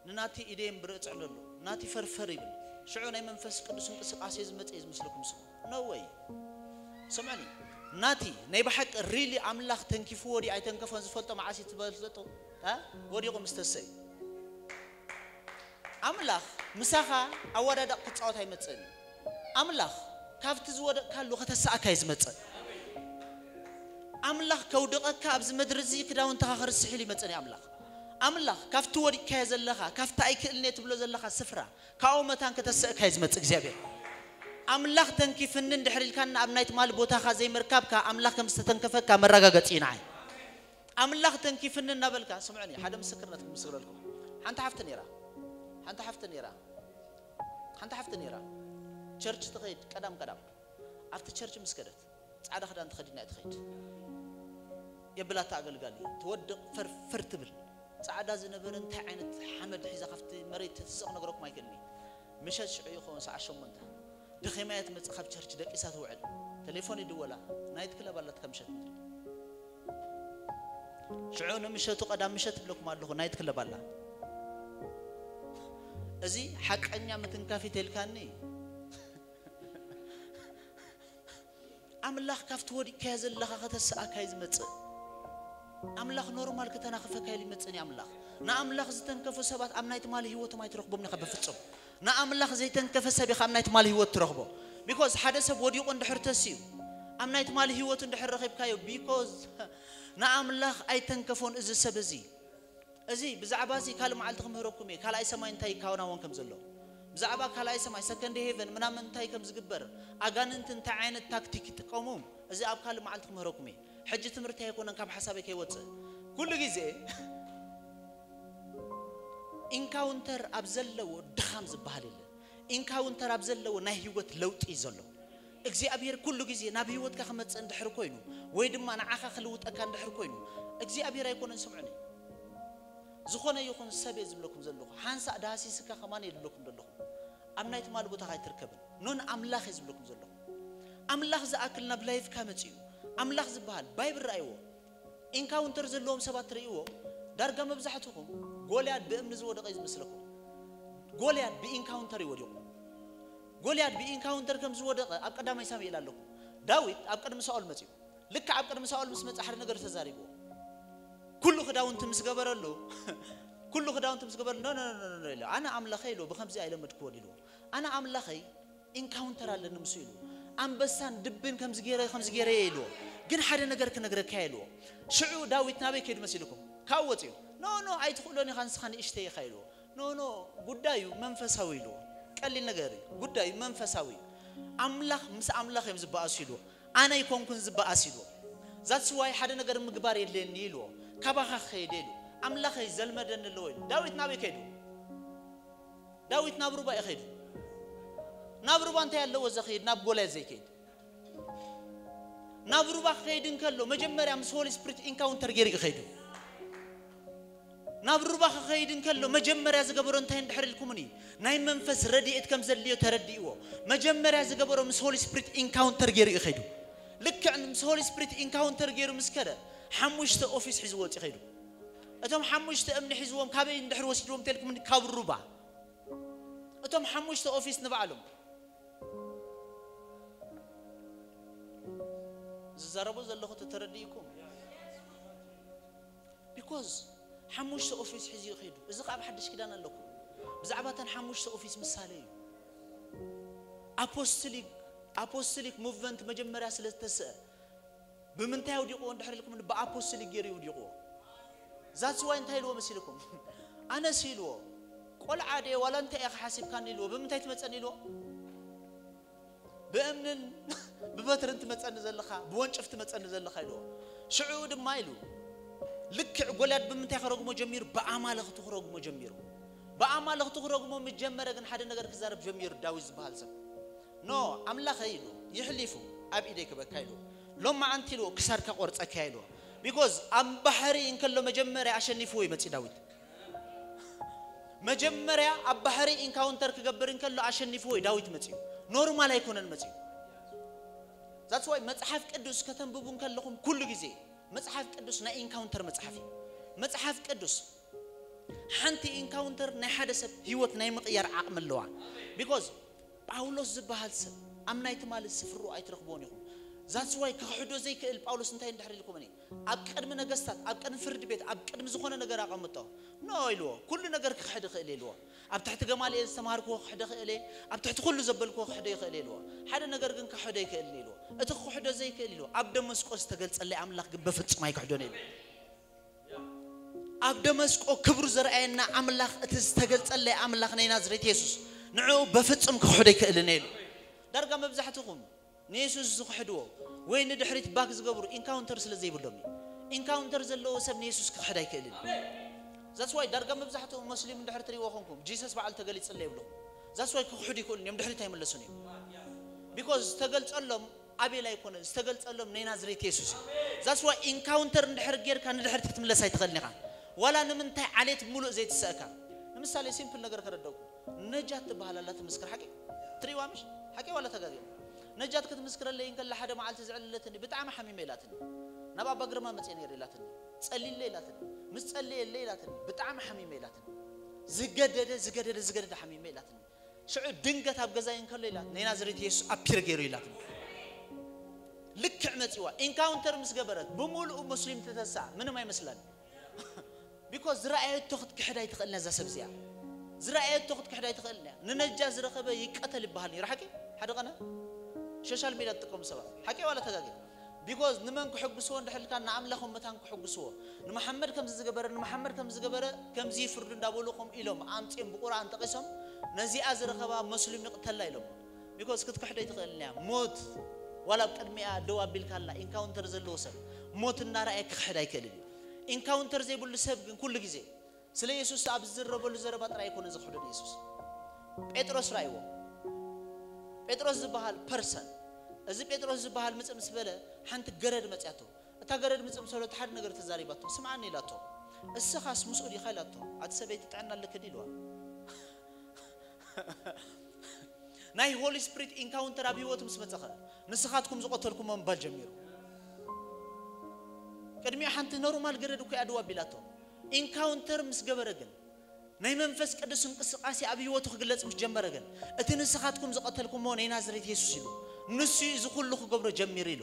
ንናቲ ኢደየን ብርእ ጽዕለሉ፣ ናቲ ፈርፈር ይብል። ሽዑ ናይ መንፈስ ቅዱስ እንቅስቃሴ ዝመጽእ እዩ ዝመስለኩም ስሙ። No way። ስምዕኒ፣ ናቲ ናይ ብሓቂ ሪሊ ኣምላኽ ተንኪፍዎ ድዩ ኣይተንከፎን ዝፈልጦ መዓስ እዩ ትፈልጡ? እ? ወዲቑ ምስ ተሰዩ። ኣምላኽ ምሳኻ ኣወዳዳቕ ክጻወት ኣይመጽእን እዩ። ኣምላኽ ካብቲ ዝወደቕካሉ ከተሳእካ እዩ ዝመጽእ። ኣምላኽ ከውድቐካ ኣብዚ ምድሪ እዚ ክዳውንትኻ ክርስሕ ኢሉ ይመጽእን እዩ ኣምላኽ። ኣምላኽ ካብቲ ወዲቕካዮ ዘለኻ፣ ካብቲ ኣይክእልን እየ ትብሎ ዘለኻ ስፍራ፣ ካብኡ መታን ከተሰእካ እዩ ዝመጽእ እግዚኣብሔር። ኣምላኽ ተንኪፍኒ እንድሕር ኢልካና ኣብ ናይ ትማሊ ቦታኻ ዘይምርካብካ ኣምላኽ ከም ዝተተንከፈካ መረጋገጺ እዩ ንዓይ። ኣምላኽ ተንኪፍኒ እናበልካ፣ ስምዑኒ፣ ሓደ ምስክርነት ክምስክረልኩም። ሓንቲ ሓፍቲ ነይራ፣ ሓንቲ ሓፍቲ ነይራ፣ ሓንቲ ሓፍቲ ነይራ። ቸርች ትኸይድ ቀዳም ቀዳም። ኣብቲ ቸርች ምስ ከደት፣ ጻዕዳ ክዳን ተኸዲና እያ ትኸይድ። የብላታ ኣገልጋሊ፣ ትወድቕ ፈርፈር ትብል። ጻዕዳ ዝነበረ እንታይ ዓይነት ሓመድ ሒዛ ካብቲ መሬት ተትስቕ ነግረኩም ኣይክእልን እየ። ምሸት ሽዑ ይኸውን ሰዓት ሸሞንተ። ደኺማ እያ ትመጽእ ካብ ቸርች ደቂሳ ትውዕል። ቴሌፎን ይድወላ። ናይት ክለብ ኣላትካ ምሸት ምድሪ። ሽዑ ንምሸቱ ቀዳም ምሸት እብለኩም ኣለኹ፣ ናይት ክለብ ኣላ። እዚ ሓቀኛ ምትንካፊ ተልካኒ። ኣምላኽ ካብቲ ወዲቅካዮ ዘለኻ ከተስኣካ እዩ ዝመጽእ። ኣምላኽ ኖርማል ከተናኽፈካ ኢሉ ይመጽእን እዩ ኣምላኽ። ንኣምላኽ ዝተንከፉ ሰባት ኣብ ናይ ትማሊ ህይወቶም ኣይትረኽቦም ኢኻ በፍጹም። ንኣምላኽ ዘይተንከፈ ሰብ ኢኻ ኣብ ናይ ትማሊ ህይወት ትረኽቦ። ቢኮዝ ሓደ ሰብ ወዲቑ እንድሕር ተስኡ፣ ኣብ ናይ ትማሊ ህይወቱ እንድሕር ረኺብካዮ፣ ቢኮዝ ንኣምላኽ ኣይተንከፎን እዚ ሰብ እዚ። እዚ ብዛዕባ እዚ ካልእ መዓልቲ ክምህረኩም እየ፣ ካልኣይ ሰማይ እንታይ ይከናወን ከም ዘሎ። ብዛዕባ ካልኣይ ሰማይ፣ ሰከንድ ሄቨን ምናምን እንታይ ከም ዝግበር፣ ኣጋንንቲ እንታይ ዓይነት ታክቲክ ይጥቀሙ፣ እዚ ኣብ ካልእ መዓልቲ ክምህረኩም እየ። ሕጂ ትምህርቲ ኣይኮነን ካብ ሓሳበይ ከይወጽእ። ኩሉ ግዜ ኢንካውንተር ኣብ ዘለዎ ድኻም ዝበሃል የለን። ኢንካውንተር ኣብ ዘለዎ ናይ ህይወት ለውጢ እዩ ዘሎ። እግዚኣብሔር ኩሉ ግዜ ናብ ህይወትካ ክመጽእ እንድሕር ኮይኑ፣ ወይ ድማ ንዓኻ ክልውጠካ እንድሕር ኮይኑ፣ እግዚኣብሔር ኣይኮነን። ስምዑኒ፣ ዝኾነ ይኹን ሰብ እየ ዝብለኩም ዘለኹ። ሓንሳእ ዳህሲስካ ከማን እየ ዝብለኩም ዘለኹ። ኣብ ናይ ትማሊ ቦታኻ ኣይትርከብን። ኖን ኣምላኽ እየ ዝብለኩም ዘለኹ። ኣምላኽ ዝኣክል ናብ ላይፍካ መጺኡ። ኣምላኽ ዝበሃል ባይብል ረኣይዎ። ኢንካውንተር ዘለዎም ሰባት ትርእይዎ፣ ዳርጋ መብዛሕትኹም ጎልያድ ብእምኒ ዝወደቐ እዩ ዝመስለኩም። ጎልያድ ብኢንካውንተር እዩ ወዲቑ። ጎልያድ ብኢንካውንተር ከም ዝወደቐ ኣብ ቀዳማይ ሳሙኤል ኣለኩም። ዳዊት ኣብ ቅድሚ ሳኦል መጺኡ። ልክዕ ኣብ ቅድሚ ሳኦል ምስ መጸ ሓደ ነገር ተዛሪብዎ። ኩሉ ክዳውንቲ ምስ ገበረሉ፣ ኩሉ ክዳውንቲ ምስ ገበረሉ፣ "ኖ፣ ኖ፣ ኖ፣ ኖ፣ ኖ" ኢሉ፣ "ኣነ ኣምላኸ" ኢሉ፣ "ብኸምዚ ኣይለመድክዎን" ኢልዎ። "ኣነ ኣምላኸይ ኢንካውንተር ኣለኒ ምስ" ኢሉ፣ "ኣንበሳን ድብን ከምዚ ገይረ፣ ከምዚ ገይረ እየ" ኢልዎ። "ግን ሓደ ነገር ክነግረካ እየ" ኢልዎ። ሽዑ ዳዊት ናበይ ከይዱ መሲልኩም? ካብኡ ወጺኡ። ኖ ኖ ኣይትኽእሎን ኢኻ፣ ንስኻ ንእሽተይ ኢኻ ኢልዎ። ኖ ኖ ጉዳዩ መንፈሳዊ ኢልዎ። ቀሊል ነገር እዩ። ጉዳዩ መንፈሳዊ እዩ። ኣምላኽ ምስ ኣምላኽ እዮም ዝበኣሱ ኢልዎ። ኣነ ኣይኮንኩን ዝበኣስ ኢልዎ። ዛትስ ዋይ ሓደ ነገር ምግባር የድልየኒ ኢልዎ። ካባኻ ክኸይድ ኢሉ ኣምላኸይ ዘልመደኒ ኣለዎ ኢሉ። ዳዊት ናበይ ከይዱ? ዳዊት ናብ ሩባ እዩ ከይዱ። ናብ ሩባ እንታይ ኣለዎ ዘኸይድ ናብ ጎልያድ ዘይከይድ? ናብ ሩባ ክኸይድ እንከሎ መጀመርያ ምስ ሆሊ ስፕሪት ኢንካውንተር ገይሩ እዩ ከይዱ። ናብ ሩባ ክኸይድ እንከሎ መጀመርያ ዝገበሮ እንታይ እንድሕር ኢልኩምኒ፣ ናይ መንፈስ ረድኤት ከም ዘድልዮ ተረዲእዎ። መጀመርያ ዝገበሮ ምስ ሆሊ ስፕሪት ኢንካውንተር ገይሩ እዩ ከይዱ። ልክዕ ምስ ሆሊ ስፕሪት ኢንካውንተር ገይሩ ምስ ከደ ሓሙሽተ ኦፊስ ሒዝዎ ወፂ ከይዱ። እቶም ሓሙሽተ እምኒ ሒዝዎም ካበይ እንድሕር ወሲድዎም ተልኩምኒ፣ ካብ ሩባ። እቶም ሓሙሽተ ኦፊስ ንባዕሎም ዝዛረቦ ዘለኹ ተተረዲእኩም። ቢኮዝ ሓሙሽተ ኦፊስ ሒዙ ይኸይዱ። እዚ ካብ ሓድሽ ኪዳን ኣለኩ። ብዛዕባ እተን ሓሙሽተ ኦፊስ ምሳሌ እዩ። ኣፖስቶሊክ ኣፖስቶሊክ ሙቭመንት መጀመርያ ስለ ዝተስአ ብምንታይ ኣውዲቕዎ እንድሕር ኢልኩም፣ ብኣፖስቶሊክ ገይሩ ይውዲቕዎ። ዛትስ ዋይ እንታይ ኢልዎ መሲልኩም? ኣነስ ኢልዎ፣ ቆልዓ ድየ ዋላ እንታይ ኢኻ ሓሲብካኒ ኢልዎ። ብምንታይ ትመፀኒ ኢልዎ? ብእምንን ብበትርን ትመፀኒ ዘለኻ፣ ብወንጭፍ ትመፀኒ ዘለኻ ኢልዎ። ሽዑ ድማ ኢሉ ልክዕ ጎልያድ ብምንታይ ክረግሞ ጀሚሩ? ብኣማልኽቱ ክረግሞ ጀሚሩ። ብኣማልኽቱ ክረግሞ ምስ ጀመረ ግን ሓደ ነገር ክዛረብ ጀሚሩ። ዳዊት ዝበሃል ሰብ ኖ ኣምላኸይ ኢሉ፣ ይሕሊፉ ኣብ ኢደይ ክበካ ኢሉ፣ ሎም መዓንቲ ኢሉ ክሳድካ ቆርፀካ ኢሉ። ቢኮዝ ኣብ ባሕሪ እንከሎ መጀመርያ ኣሸኒፍዎ ይመፅእ ዳዊት። መጀመርያ ኣብ ባሕሪ ኢንካውንተር ክገብር እንከሎ ኣሸኒፍዎ እዩ ዳዊት መፅኡ። ኖርማል ኣይኮነን መፅኡ። ዛትስ ዋይ መፅሓፍ ቅዱስ ከተንብቡ እንከለኹም ኩሉ ግዜ መፅሓፍ ቅዱስ ናይ ኢንካውንተር መፅሓፍ እዩ። መፅሓፍ ቅዱስ ሓንቲ ኢንካውንተር ናይ ሓደ ሰብ ህይወት ናይ ምቕያር ዓቕሚ ኣለዋ። ቢኮዝ ጳውሎስ ዝበሃል ሰብ ኣብ ናይ ትማሊ ስፍርኡ ኣይትረኽብዎን ኢኹም። ዛትስ ዋይ ክኽሕዶ ዘይክእል ጳውሎስ እንታይ እንድሕር ኢልኩምኒ፣ ኣብ ቅድሚ ነገስታት፣ ኣብ ቅድሚ ፍርዲ ቤት፣ ኣብ ቅድሚ ዝኾነ ነገር ኣቐምጦ። ኖ ኢልዎ፣ ኩሉ ነገር ክኽሕድ ይኽእል ኢልዎ። ኣብ ትሕቲ ገማልኤል ዝተማሃርክዎ ክኽሕደ ክእል እየ፣ ኣብ ትሕቲ ኩሉ ዘበልክዎ ክኽሕደ ይኽእል ኢልዎ። ሓደ ነገር ግን ክኽሕዶ ኣይክእልን ኢልዎ። እቲ ክኽሕዶ ዘይክእል ኢልዎ፣ ኣብ ደመስቆ ዝተገልጸለይ ኣምላኽ ግን በፍጹም ኣይክሕዶን ኢልዎ። ኣብ ደመስቆ ክብሩ ዘርኣየና ኣምላኽ፣ እቲ ዝተገልጸለይ ኣምላኽ ናይ ናዝሬት የሱስ፣ ንዕኡ በፍጹም ክኽሕዶ ኣይክእልን ኢሉ። ዳርጋ መብዛሕትኹም ንየሱስ ዝኽሕድዎ ወይ ንድሕሪት ባክ ዝገብሩ ኢንካውንተር ስለ ዘይብሎም እዩ። ኢንካውንተር ዘለዎ ሰብ ንየሱስ ክኽሕድ ኣይክእልን። ዛትስ ዋይ ዳርጋ መብዛሕትኡ መስሊም እንድሕር ትሪእዎ ኾንኩም ጂሰስ በዓል ተገሊጽለ ይብልኹም። ዛትስ ዋይ ክኽሕዱ ይኽእሉን እዮም፣ ድሕሪት ኣይምለሱን እዮም። ቢኮዝ ዝተገልጸሎም ኣቤል ኣይኮነን፣ ዝተገልጸሎም ናይ ናዝሬት የሱስ እዩ። ዛትስ ዋይ ኢንካውንተር እንድሕር ጌርካ ንድሕሪት ክትምለስ ኣይትኽእልን ኢኻ። ዋላ ንምንታይ ዓሌት ሙሉእ ዘይትስእካ። ንምሳሌ ሲምፕል ነገር ከረደኩም። ነጃት ትበሃል ኣላ ትምስክር ሓቂ? ትሪእዋ ምሽ? ሓቂ ዋላ ተጋግየ? ነጃት ክትምስክረለይ እንከላ ሓደ መዓልቲ ዝዕልለትኒ ብጣዕሚ ሓሚመ ኢላትኒ። ናብ ኣባ ግርማ መፅየ ነይረ ኢላትኒ። ጸሊለ ኢላትኒ። ምስ ጸለየለይ ኢላትኒ። ብጣዕሚ ሓሚመ ኢላትኒ። ዝገደደ ዝገደደ ዝገደደ ሓሚመ ኢላትኒ። ሽዑ ድንገት ኣብ ገዛይ እንከሎ ኢላ ናይ ናዝሬት የሱስ ኣፒር ገይሩ ኢላትኒ። ልክዕ መፂዋ ኢንካውንተር ምስ ገበረት ብምሉኡ ሙስሊም ትተሳ ምንም ኣይመስላን። ቢኮዝ ዝረኣየቶ ክትክሕድ ኣይትኽእልን እያ እዛ ሰብ እዚኣ። ዝረኣየቶ ክትክሕድ ኣይትኽእልን እያ። ንነጃ ዝረኸበ ይቀተል ይበሃል ነይሩ። ሓቂ ሓደ ቀነ ሶሻል ሚድያ ትጥቀሙ ሰባት ሓቂ ዋላ ተጋገ? ቢኮዝ ንመን ክሕግስዎ እንድሕልካ ንኣምላኽ መታን ክሕግስዎ። ንመሓመድ ከምዚ ዝገበረ ንመሓመድ ከምዚ ዝገበረ ከምዚ ይፍርዱ እንዳበሉ ከምኡ ኢሎም ኣምፅኦም ብቁርኣን ጠቒሶም ነዚኣ ዝረኸባ መስሉም ይቕተላ ኢሎም። ቢኮዝ ክትክሕዶ ኣይትኽእልን እያ። ሞት ዋላ ኣብ ቅድሚኣ ደው ኣቢልካ ኣላ። ኢንካውንተር ዘለዎ ሰብ ሞት እናረኣየ ክኽሕድ ኣይክእልን እዩ። ኢንካውንተር ዘይብሉ ሰብ ግን ኩሉ ግዜ ስለ የሱስ ኣብ ዝዝረበሉ ዘረባ ጥራይ ኣይኮነ ዝኽሕዶ ንየሱስ። ጴጥሮስ ራእይዎ። ጴጥሮስ ዝበሃል ፐርሰን፣ እዚ ጴጥሮስ ዝበሃል ምጽእ ምስ በለ ሓንቲ ገረድ መጽያቶ። እታ ገረድ ምጽእ ምስ በለ ሓደ ነገር ተዛሪባቶ። ስምዓኒ ኢላቶ። እስኻስ ምስኡ ዲኻ ኢላቶ። ኣቲ ሰበይቲ ጥዕና ኣለኪ ድዩ ኢልዋ። ናይ ሆሊ ስፕሪት ኢንካውንተር ኣብ ህይወቱ ምስ መጸኸ ንስኻትኩም ዝቐተልኩሞ ምባል ጀሚሩ። ቅድሚኡ ሓንቲ ኖርማል ገረድ እኮ እያ ድው ኣቢላቶ። ኢንካውንተር ምስ ገበረ ግን ናይ መንፈስ ቅዱስ እንቅስቃሴ ኣብ ህይወቱ ክግለጽ ምስ ጀመረ ግን እቲ ንስኻትኩም ዝቐተልኩሞ ናይ ናዝሬት የሱስ ኢሉ ንሱ እዩ እዚ ኩሉ ክገብሮ ጀሚሩ ኢሉ።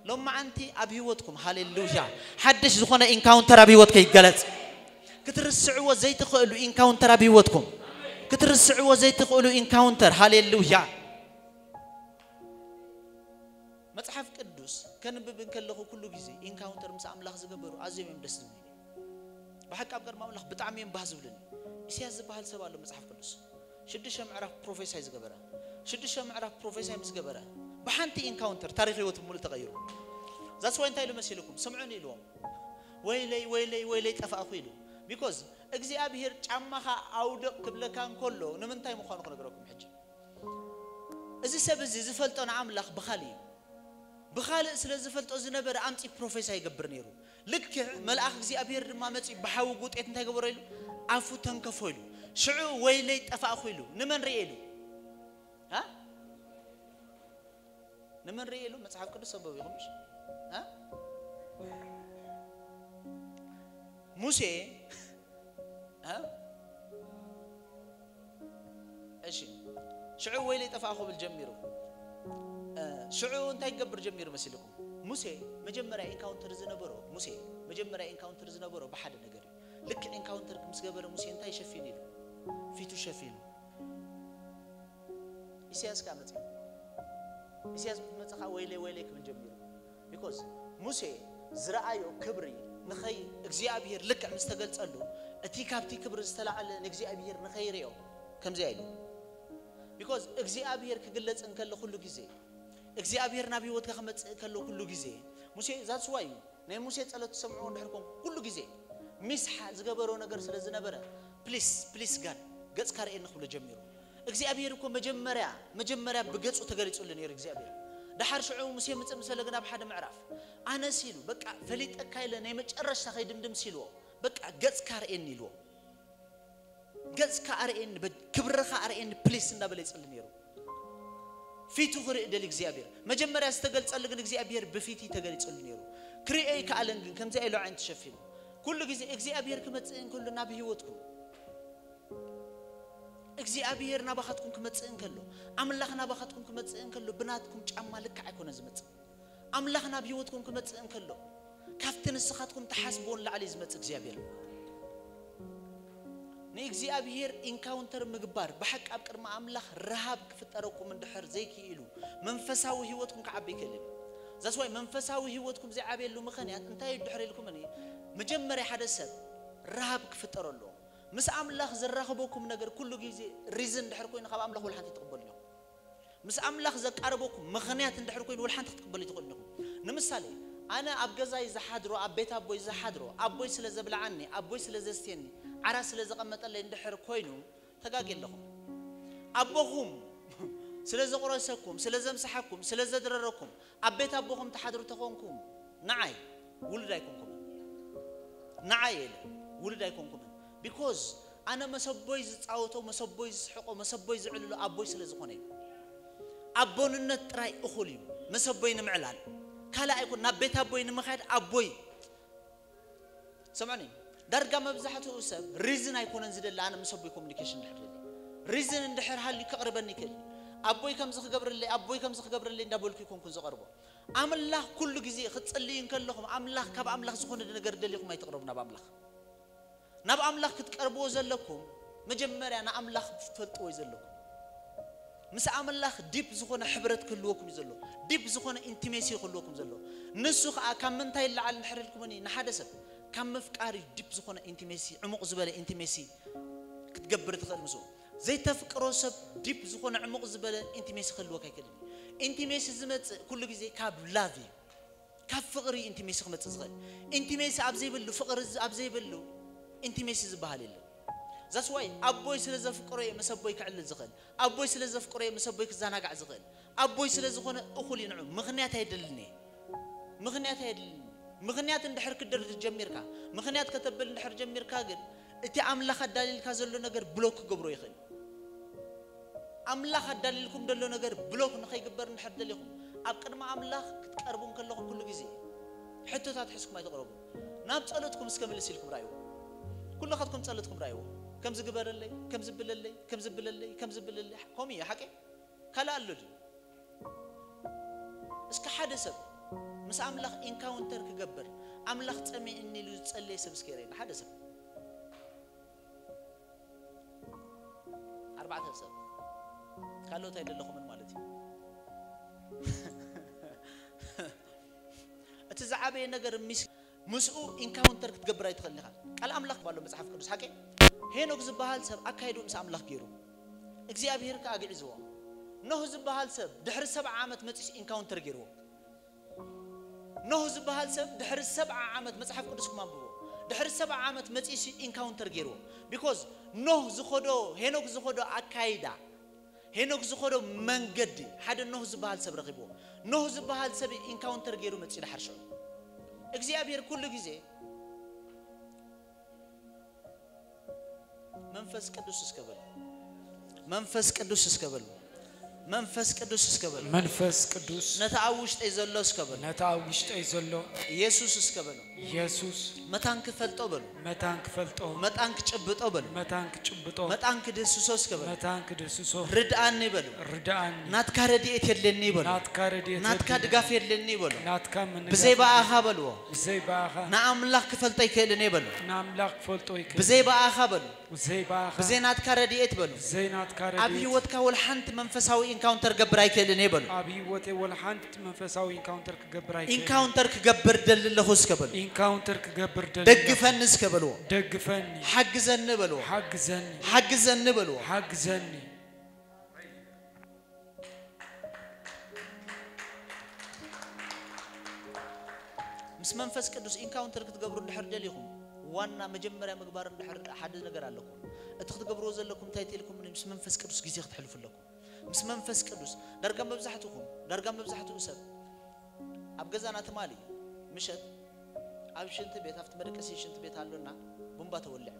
ሎማዓንቲ ኣብ ህይወትኩም ሃሌሉያ ሓድሽ ዝኾነ ኢንካውንተር ኣብ ህይወትከ ይገለጽ። ክትርስዕዎ ዘይትኽእሉ ኢንካውንተር ኣብ ህይወትኩም ክትርስዕዎ ዘይትኽእሉ ኢንካውንተር ሃሌሉያ። መጽሓፍ ቅዱስ ከንብብ እንከለኹ ኩሉ ግዜ ኢንካውንተር ምስ ኣምላኽ ዝገበሩ ኣዝዮም እዮም ደስ ዝብሉ። ብሓቂ ኣብ ቅድሚ ኣምላኽ ብጣዕሚ እዮም ባህ ዝብሉኒ። ኢሳያስ ዝበሃል ሰብ ኣሎ መጽሓፍ ቅዱስ ሽዱሽተ ምዕራፍ ፕሮፌሳይ ዝገበረ፣ ሽዱሽተ ምዕራፍ ፕሮፌሳይ ምስ ገበረ ብሓንቲ ኢንካውንተር ታሪኽ ህይወቱ ሙሉእ ተቐይሩ። ዛስ ዋይ እንታይ ኢሉ መሲልኩም? ስምዑን ኢልዎም፣ ወይለይ ወይለይ ወይለይ ጠፋእኹ ኢሉ። ቢኮዝ እግዚኣብሔር ጫማኻ ኣውድቕ ክብለካ እንከሎ ንምንታይ ምዃኑ ክነግረኩም ሕጂ። እዚ ሰብ እዚ ዝፈልጦ ንኣምላኽ ብኻልእ እዩ። ብኻልእ ስለ ዝፈልጦ ዝነበረ ኣምጺ ፕሮፌሳይ ይገብር ነይሩ። ልክዕ መልኣኽ እግዚኣብሔር ድማ መጺኡ ብሓዊ ጉጤት እንታይ ገበሮ ኢሉ? ኣፉ ተንከፎ ኢሉ። ሽዑ ወይለይ ጠፋእኹ ኢሉ። ንመን ርኤ ኢሉ? ሃ? ንመን ርኤ ኢሉ? መጽሓፍ ቅዱስ ሰበብ ኢኹም እሺ? ሃ? ሙሴ፣ ሃ? እሺ፣ ሽዑ ወይለይ ጠፋእኹ ክብል ጀሚሩ። እ፣ ሽዑ እንታይ ክገብር ጀሚሩ መሲልኩም? ሙሴ መጀመርያ ኢንካውንተር ዝነበሮ፣ ሙሴ መጀመርያ ኢንካውንተር ዝነበሮ ብሓደ ነገር እዩ። ልክዕ ኢንካውንተር ምስ ገበረ ሙሴ እንታይ ሸፊኑ ኢሉ? ፊቱ ሸፊኑ። ኢሳያስ ከኣ መጽእ። ኢሳያስ ምስ መጸ ከኣ ወይለይ ወይለይ ክብል ጀሚሩ። ቢኮዝ ሙሴ ዝረኣዮ ክብሪ ንኸይ እግዚኣብሔር ልክዕ ምስ ተገልጸሉ፣ እቲ ካብቲ ክብሪ ዝተላዕለ ንእግዚኣብሔር ንኸይርእዮ ከምዚኣ ኢሉ። ቢኮዝ እግዚኣብሔር ክግለጽ እንከሎ ኩሉ ግዜ፣ እግዚኣብሔር ናብ ህይወትካ ክመጽእ ከሎ ኩሉ ግዜ፣ ሙሴ ዛትስ ዋይ እዩ ናይ ሙሴ ጸሎት ትሰምዕዎ እንድሕር ኮንኩ ኩሉ ግዜ ሚስሓ ዝገበሮ ነገር ስለ ዝነበረ፣ ፕሊስ ፕሊስ ጋድ ገጽካ ርእየኒ ክብሎ ጀሚሩ። እግዚኣብሔር እኮ መጀመርያ መጀመርያ ብገጹ ተገሊጹሉ ነይሩ እግዚኣብሔር። ደሓር ሽዑ ሙሴ ምጽእ ምስ ፈለገ ናብ ሓደ ምዕራፍ ኣነስ ኢሉ በቃ ፈሊጠካ ኢለ ናይ መጨረሽታ ከይድምድም ሲልዎ በቃ ገጽካ ርእየኒ ኢልዎ። ገጽካ ኣርእየኒ፣ በ-፣ ክብርኻ ኣርእየኒ ፕሊስ እንዳበለ ይጽሊ ነይሩ። ፊቱ ክርኢ ደሊ እግዚኣብሔር። መጀመርያ ዝተገልጸሉ ግን እግዚኣብሔር ብፊት ተገሊጸሉ ነይሩ። ክርእዮ ይከኣለን ግን ከምዚኣ ኢሉ ዓይን ተሸፊኑ። ኩሉ ግዜ እግዚኣብሔር ክመጽእ እንከሎ ናብ ህይወትኩም፣ እግዚኣብሔር ናባኻትኩም ክመጽእ እንከሎ፣ ኣምላኽ ናባኻትኩም ክመጽእ እንከሎ ብናትኩም ጫማ ልክዕ ኣይኮነ ዝመጽእ። ኣምላኽ ናብ ህይወትኩም ክመጽእ እንከሎ ካብቲ ንስኻትኩም ትሓስብዎ ንላዕሊ እዩ ዝመጽእ እግዚኣብሔር። ንእግዚኣብሔር ኢንካውንተር ምግባር፣ ብሓቂ ኣብ ቅድሚ ኣምላኽ ረሃብ ክፍጠረኩም እንድሕር ዘይክኢሉ፣ መንፈሳዊ ህይወትኩም ክዓቢ ይክእል እዩ። ዛስ ዋይ መንፈሳዊ ህይወትኩም ዘይዓብየሉ ምኽንያት እንታይ እዩ? እንድሕር ኢልኩምኒ፣ መጀመርያ ሓደ ሰብ ረሃብ ክፍጠሮ ኣለዎ። ምስ ኣምላኽ ዘራኽበኩም ነገር ኩሉ ግዜ ሪዝን እንድሕር ኮይኑ ካብ ኣምላኽ ወላ ሓንቲ ትቕበሉ ኢኹም። ምስ ኣምላኽ ዘቃርበኩም ምኽንያት እንድሕር ኮይኑ ወላ ሓንቲ ክትቅበሉ ኣይትኽእሉን ኢኹም። ንምሳሌ፣ ኣነ ኣብ ገዛይ ዝሓድሮ፣ ኣብ ቤት ኣቦይ ዝሓድሮ፣ ኣቦይ ስለ ዘብልዓኒ፣ ኣቦይ ስለ ዘስትየኒ፣ ዓራት ስለ ዘቐመጠለይ እንድሕር ኮይኑ፣ ተጋግየ ኣለኹ። ኣቦኹም ስለ ዘቑረሰኩም፣ ስለ ዘምሰሓኩም፣ ስለ ዘድረረኩም፣ ኣብ ቤት ኣቦኹም ትሓድሩ ተኾንኩም፣ ንዓይ ውሉድ ኣይኮንኩምን። ንዓይ ኢለ ውሉድ ኣይኮንኩምን። ቢኮዝ ኣነ መሰቦይ ዝጻወቶ፣ መሰቦይ ዝስሕቆ፣ መሰቦይ ዝዕልሎ ኣቦይ ስለ ዝኾነ እዩ። ኣቦንነት ጥራይ እኹል እዩ። መሰቦይ ንምዕላል ካልእ ኣይኮን፣ ናብ ቤት ኣቦይ ንምኻድ ኣቦይ። ሰምዑኒ፣ ዳርጋ መብዛሕትኡ ሰብ ሪዝን ኣይኮነን ዝደሊ። ኣነ ምስ ኣቦይ ኮሚኒኬሽን እንድሕር ደሊ፣ ሪዝን እንድሕር ሃልዩ ከቕርበኒ ይክእል። ኣቦይ ከምዚ ክገብረለይ፣ ኣቦይ ከምዚ ክገብረለይ እንዳበልኩ ይኮንኩን ዝቐርቦ። ኣምላኽ ኩሉ ግዜ ክትጽልዩ እንከለኹም፣ ኣምላኽ፣ ካብ ኣምላኽ ዝኾነ ነገር ደሊኹም ኣይትቕረቡ ናብ ኣምላኽ። ናብ ኣምላኽ ክትቀርብዎ ዘለኩም፣ መጀመርያ ንኣምላኽ ክትፈልጥዎ እዩ ዘለኩም። ምስ ኣምላኽ ዲፕ ዝኾነ ሕብረት ክህልወኩም እዩ ዘሎ። ዲፕ ዝኾነ ኢንቲሜሲ ክህልወኩም ዘሎ። ንሱ ኸኣ ካብ ምንታይ ይለዓል እንድሕር ኢልኩምኒ፣ ንሓደ ሰብ ካብ ምፍቃር እዩ ዲፕ ዝኾነ ኢንቲሜሲ፣ ዕሙቕ ዝበለ ኢንቲሜሲ ክትገብር ትኽእል ምስኡ። ዘይተፍቅሮ ሰብ ዲፕ ዝኾነ ዕሙቕ ዝበለ ኢንቲሜሲ ክህልወካ ኣይክእልን እዩ። ኢንቲሜሲ ዝመጽእ ኩሉ ግዜ ካብ ላቭ እዩ። ካብ ፍቕሪ ኢንቲሜሲ ክመጽእ ዝኽእል። ኢንቲሜሲ ኣብ ዘይብሉ፣ ፍቕሪ ኣብ ዘይብሉ ኢንቲሜሲ ዝበሃል የለን። ዛስ ዋይ ኣቦይ ስለ ዘፍቅሮ እየ ምስ ኣቦይ ክዕልል ዝኽእል። ኣቦይ ስለ ዘፍቅሮ እየ ምስ ኣቦይ ክዘናጋዕ ዝኽእል። ኣቦይ ስለ ዝኾነ እኹል እዩ ንዑ። ምኽንያት ኣየድልን እየ። ምኽንያት ኣየድልን። ምኽንያት እንድሕር ክደርድር ጀሚርካ፣ ምኽንያት ከተብል እንድሕር ጀሚርካ ግን እቲ ኣምላኽ ኣዳልይልካ ዘሎ ነገር ብሎክ ክገብሮ ይኽእል። ኣምላኽ ኣዳልይልኩም ዘሎ ነገር ብሎክ ንኸይግበር እንድሕር ደሊኹም፣ ኣብ ቅድሚ ኣምላኽ ክትቀርቡ እንከለኹም ኩሉ ግዜ ሕቶታት ሒዝኩም ኣይትቕረቡ። ናብ ጸሎትኩም እስከ ምልስ ኢልኩም ረኣይዎ። ኩልኻትኩም ጸሎትኩም ረኣይዎ። ከምዚ ግበረለይ፣ ከምዚ ብለለይ፣ ከምዚ ብለለይ፣ ከምዚ ብለለይ። ከምኡ እዩ፣ ሓቂ? ካልእ ኣሎ ድዩ? እስከ ሓደ ሰብ ምስ ኣምላኽ ኢንካውንተር ክገብር፣ ኣምላኽ ጸሚእኒ ኢሉ ዝጸለየ ሰብ እስከ የርእየና፣ ሓደ ሰብ። ኣርባዕተ ሰብ። ካልኦት ኣይደለኹምን ማለት እዩ። እቲ ዝዓበየ ነገር ሚስ-፣ ምስኡ ኢንካውንተር ክትገብር ኣይትኽእልን ኢኻ። ቃል ኣምላኽ ባሎ መጽሓፍ ቅዱስ ሓቂ ሄኖክ ዝበሃል ሰብ ኣካይዱ ምስ ኣምላኽ ገይሩ እግዚኣብሔር ከኣ ግዕዝዎ። ኖህ ዝበሃል ሰብ ድሕሪ ሰብዓ ዓመት መጺስ ኢንካውንተር ገይርዎ። ኖህ ዝበሃል ሰብ ድሕሪ ሰብዓ ዓመት መጽሓፍ ቅዱስ ክማንብቦ ድሕሪ ሰብዓ ዓመት መጺስ ኢንካውንተር ገይርዎ። ቢኮዝ ኖህ ዝኸዶ ሄኖክ ዝኸዶ ኣካይዳ ሄኖክ ዝኸዶ መንገዲ ሓደ ኖህ ዝበሃል ሰብ ረኺብዎ። ኖህ ዝበሃል ሰብ ኢንካውንተር ገይሩ መጺኡ ድሓር ሽዑ እግዚኣብሔር ኩሉ ግዜ መንፈስ ቅዱስ እስከ በል መንፈስ ቅዱስ እስከ በል መንፈስ ቅዱስ እስከ በል መንፈስ ቅዱስ ነታ ኣብ ውሽጠይ ዘሎ እስከ በል ነታ ኣብ ውሽጠይ ዘሎ ኢየሱስ እስከ በል ኢየሱስ መታን ክፈልጦ በሉ መታን ክፈልጦ መጣን ክጭብጦ በሉ መታን ክጭብጦ መጣን ክድህስሶ እስከ በሉ መታን ክድህስሶ ርድኣኒ በሉ ርድኣኒ ናትካ ረድኤት የድልየኒ በሉ ናትካ ረድኤት ናትካ የድልየኒ። ድጋፍ የድልየኒ በሉ ናትካ ምንጋፍ ብዘይ በኣኻ በልዎ ብዘይ በኣኻ ንኣምላኽ ክፈልጦ ኣይክእልን እየ በሉ ንኣምላኽ ክፈልጦ ኣይክእልን ብዘይ በኣኻ በሉ ብዘይ በኣኻ ብዘይ ናትካ ረድኤት በሉ ብዘይ ናትካ ኣብ ረድኤት ህይወትካ ወላ ሓንቲ መንፈሳዊ ኢንካውንተር ገብር ኣይክእልን እየ በሉ ኣብ ህይወተይ ወላ ሓንቲ መንፈሳዊ ኢንካውንተር ክገብር ኣይክእልን ኢንካውንተር ክገብር ደሊ ኣለኹ እስከ በሉ ኢንካውንተር ክገብር ደሊ ኣለኹ። ደግፈኒ እስከ በልዎ ደግፈኒ ሓግዘኒ በልዎ ሓግዘኒ ሓግዘኒ በልዎ ሓግዘኒ ምስ መንፈስ ቅዱስ ኢንካውንተር ክትገብሩ እንድሕር ደሊኹም ዋና መጀመርያ ምግባር እንድሕር ሓደ ነገር ኣለኩም እቲ ክትገብርዎ ዘለኩም እንታይ ትልኩም ምስ መንፈስ ቅዱስ ግዜ ክትሕልፉ ኣለኩም ምስ መንፈስ ቅዱስ ዳርጋ መብዛሕትኹም ዳርጋ መብዛሕትኡ ሰብ ኣብ ገዛና ትማሊ ምሸት ኣብ ሽንቲ ቤት ኣብቲ መደቀሲ ሽንቲ ቤት ኣሎና ቡምባ ተወልዐ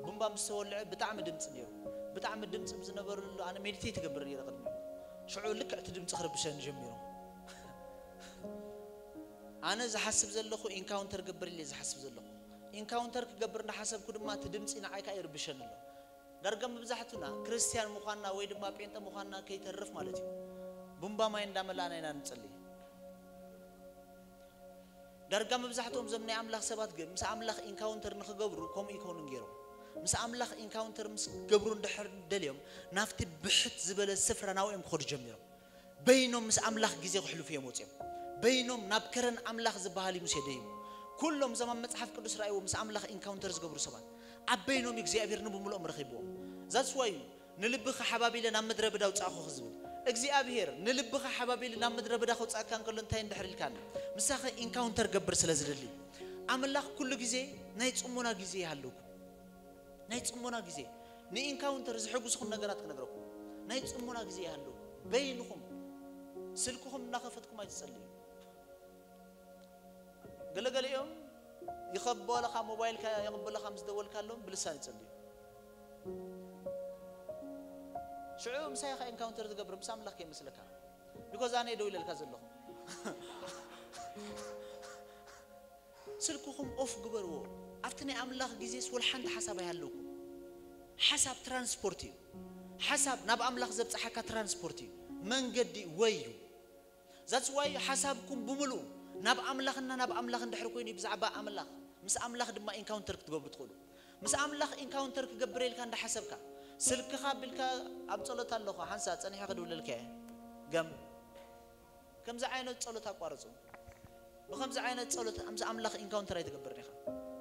ቡምባ ምስ ተወልዐ ብጣዕሚ ድምፂ ነይሩ ብጣዕሚ ድምፂ ብዝነበረሉ ኣነ ሜዲቴት ይገብር ነይረ ቅድሚ ሽዑ ልክዕ እቲ ድምፂ ክርብሸኒ ጀሚሩ ኣነ ዝሓስብ ዘለኹ ኢንካውንተር ገብር ኢለ ዝሓስብ ዘለኹ ኢንካውንተር ክገብር እንዳሓሰብኩ ድማ እቲ ድምፂ ንዓይ ከዓ ይርብሸኒ ኣሎ ዳርጋ መብዛሕቱና ክርስትያን ምዃንና ወይ ድማ ጴንጠ ምዃንና ከይተርፍ ማለት እዩ ቡምባ ማይ እንዳመላእና ኢና ንፅሊ ዳርጋ መብዛሕትኦም ዞም ናይ ኣምላኽ ሰባት ግን ምስ ኣምላኽ ኢንካውንተር ንኽገብሩ ከምኡ ይኮኑን ገይሮም ምስ ኣምላኽ ኢንካውንተር ምስ ገብሩ እንድሕር ደልዮም ናብቲ ብሕት ዝበለ ስፍራ ናብኦም ክኸዱ ጀሚሮም በይኖም ምስ ኣምላኽ ግዜ ክሕልፉ እዮም ወፅዮም በይኖም ናብ ከረን ኣምላኽ ዝበሃል እዩ ሙሴ ደይቡ ኩሎም እዞም ኣብ መጽሓፍ ቅዱስ ረኣይዎ ምስ ኣምላኽ ኢንካውንተር ዝገብሩ ሰባት ኣብ በይኖም እግዚኣብሔር ንብምልኦም ረኺብዎም ዛትስ ዋይ እዩ ንልብኻ ሓባቢለ ናብ ምድረ በዳ ውፃእኹ ዝብል እግዚኣብሔር ንልብኻ ሓባቢለ ናብ ምድረ በዳ ከውፃእካ እንከሎ እንታይ እንድሕር ኢልካኒ ምሳኸ ኢንካውንተር ገብር ስለ ዝደሊ ኣምላኽ ኩሉ ግዜ ናይ ፅሞና ግዜ ይሃለኩም ናይ ፅሞና ግዜ ንኢንካውንተር ዝሕጉስኹም ነገራት ክነግረኩም ናይ ፅሞና ግዜ ይሃለኩም በይንኹም ስልክኹም እናኸፈትኩም ኣይትፀልዩ ገለገሊኦም ይኸበለኻ ሞባይልካ የቕበለኻ ምስ ደወልካሎም ብልሳን ይፅልዩ ሽዑ ምሳይ ኻ ኢንካውንተር ትገብር ምስ ኣምላኽ ከይመስለካ ቢኮዝ ኣነ ደው ኢለልካ ዘለኹ ስልክኹም ኦፍ ግበርዎ ኣብቲ ናይ ኣምላኽ ግዜስ ወላ ሓንቲ ሓሳብ ኣይሃለኩም ሓሳብ ትራንስፖርት እዩ ሓሳብ ናብ ኣምላኽ ዘብፅሓካ ትራንስፖርት እዩ መንገዲ ወይ እዩ ዛትስ ዋይ ሓሳብኩም ብምሉኡ ናብ ኣምላኽና ናብ ኣምላኽ እንድሕር ኮይኑ ብዛዕባ ኣምላኽ ምስ ኣምላኽ ድማ ኢንካውንተር ክትገብሩ ትኽእሉ ምስ ኣምላኽ ኢንካውንተር ክገብር ኢልካ እንዳሓሰብካ ስልክኻ ኣቢልካ ኣብ ጸሎት ኣለኹ ሓንሳ ጸኒሐ ክድውለልካ እየ ገም ከምዚ ዓይነት ጸሎት ኣቋርጹ ብኸምዚ ዓይነት ጸሎት ምስ ኣምላኽ ኢንካውንተር ኣይትገብርን ኢኻ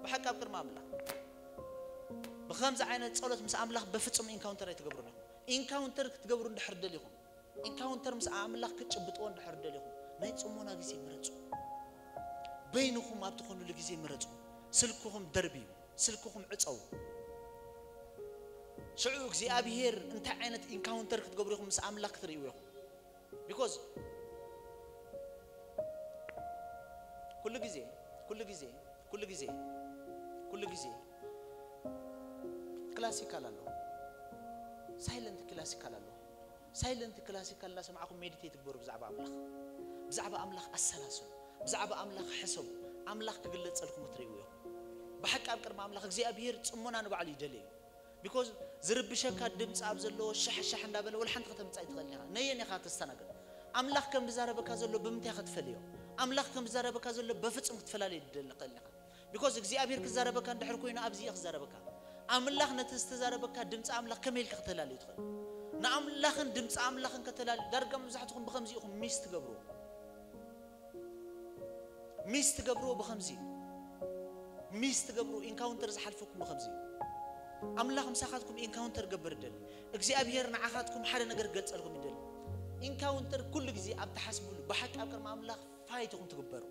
ብሓቂ ኣብ ቅድሚ ኣምላኽ ብኸምዚ ዓይነት ጸሎት ምስ ኣምላኽ በፍጹም ኢንካውንተር ኣይትገብሩን ኢኹም ኢንካውንተር ክትገብሩ እንድሕር ደሊኹም ኢንካውንተር ምስ ኣምላኽ ክትጭብጥዎ እንድሕር ደሊኹም ናይ ጽሞና ግዜ ምረጹ በይንኹም ኣብ ትኾኑሉ ግዜ ምረጹ ስልክኹም ደርብዩ ስልክኹም ዕጸው ሽዑ እግዚኣብሄር እንታይ ዓይነት ኢንካውንተር ክትገብሩ ኢኹም ምስ ኣምላኽ ክትርእይዎ ኢኹም ቢኮዝ ኩሉ ግዜ ኩሉ ግዜ ኩሉ ግዜ ኩሉ ግዜ ክላሲካል ኣሎ ሳይለንት ክላሲካል ኣሎ ሳይለንት ክላሲካል እናሰማዕኹም ሜዲቴት ግበሩ ብዛዕባ ኣምላኽ ብዛዕባ ኣምላኽ ኣሰላስሉ ብዛዕባ ኣምላኽ ሕሰቡ ኣምላኽ ክግለጸልኩም ክትርእይዎ ኢኹም ብሓቂ ኣብ ቅድሚ ኣምላኽ እግዚኣብሄር ጽሞና ንባዕሉ ይደልየ እዩ ቢኮዝ ዝርብሸካ ድምፂ ኣብ ዘለዎ ሻሕሻሕ እንዳበለ ወላ ሓንቲ ከተምፅእ ኣይትኽእል ኢኻ ነየን ኢኻ ተስተናግድ ኣምላኽ ከም ዝዛረበካ ዘሎ ብምንታይ ክትፈልዮ ኣምላኽ ከም ዝዛረበካ ዘሎ በፍፁም ክትፈላለየ ትደሊ ክእል ኢኻ ቢኮዝ እግዚኣብሔር ክዛረበካ እንድሕር ኮይኑ ኣብዚ እየ ክዛረበካ ኣምላኽ ነቲ ዝተዛረበካ ድምፂ ኣምላኽ ከመይ ኢልካ ከተላልዩ ትኽእል ንኣምላኽን ድምፂ ኣምላኽን ከተላልዩ ዳርጋ መብዛሕትኹም ብከምዚ ኢኹም ሚስ ትገብርዎ ሚስ ትገብርዎ ብከምዚ እዩ ሚስ ትገብሩ ኢንካውንተር ዝሓልፈኩም ከምዚ እዩ። ኣምላኽ ምሳኻትኩም ኢንካውንተር ገብር ይደሊ። እግዚኣብሔር ንዓኻትኩም ሓደ ነገር ክገልጸልኩም ይደሊ። ኢንካውንተር ኩሉ ግዜ ኣብ ትሓስብሉ ብሓቂ ኣብ ቅድሚ ኣምላኽ ፋይት ኢኹም ትግበሩ።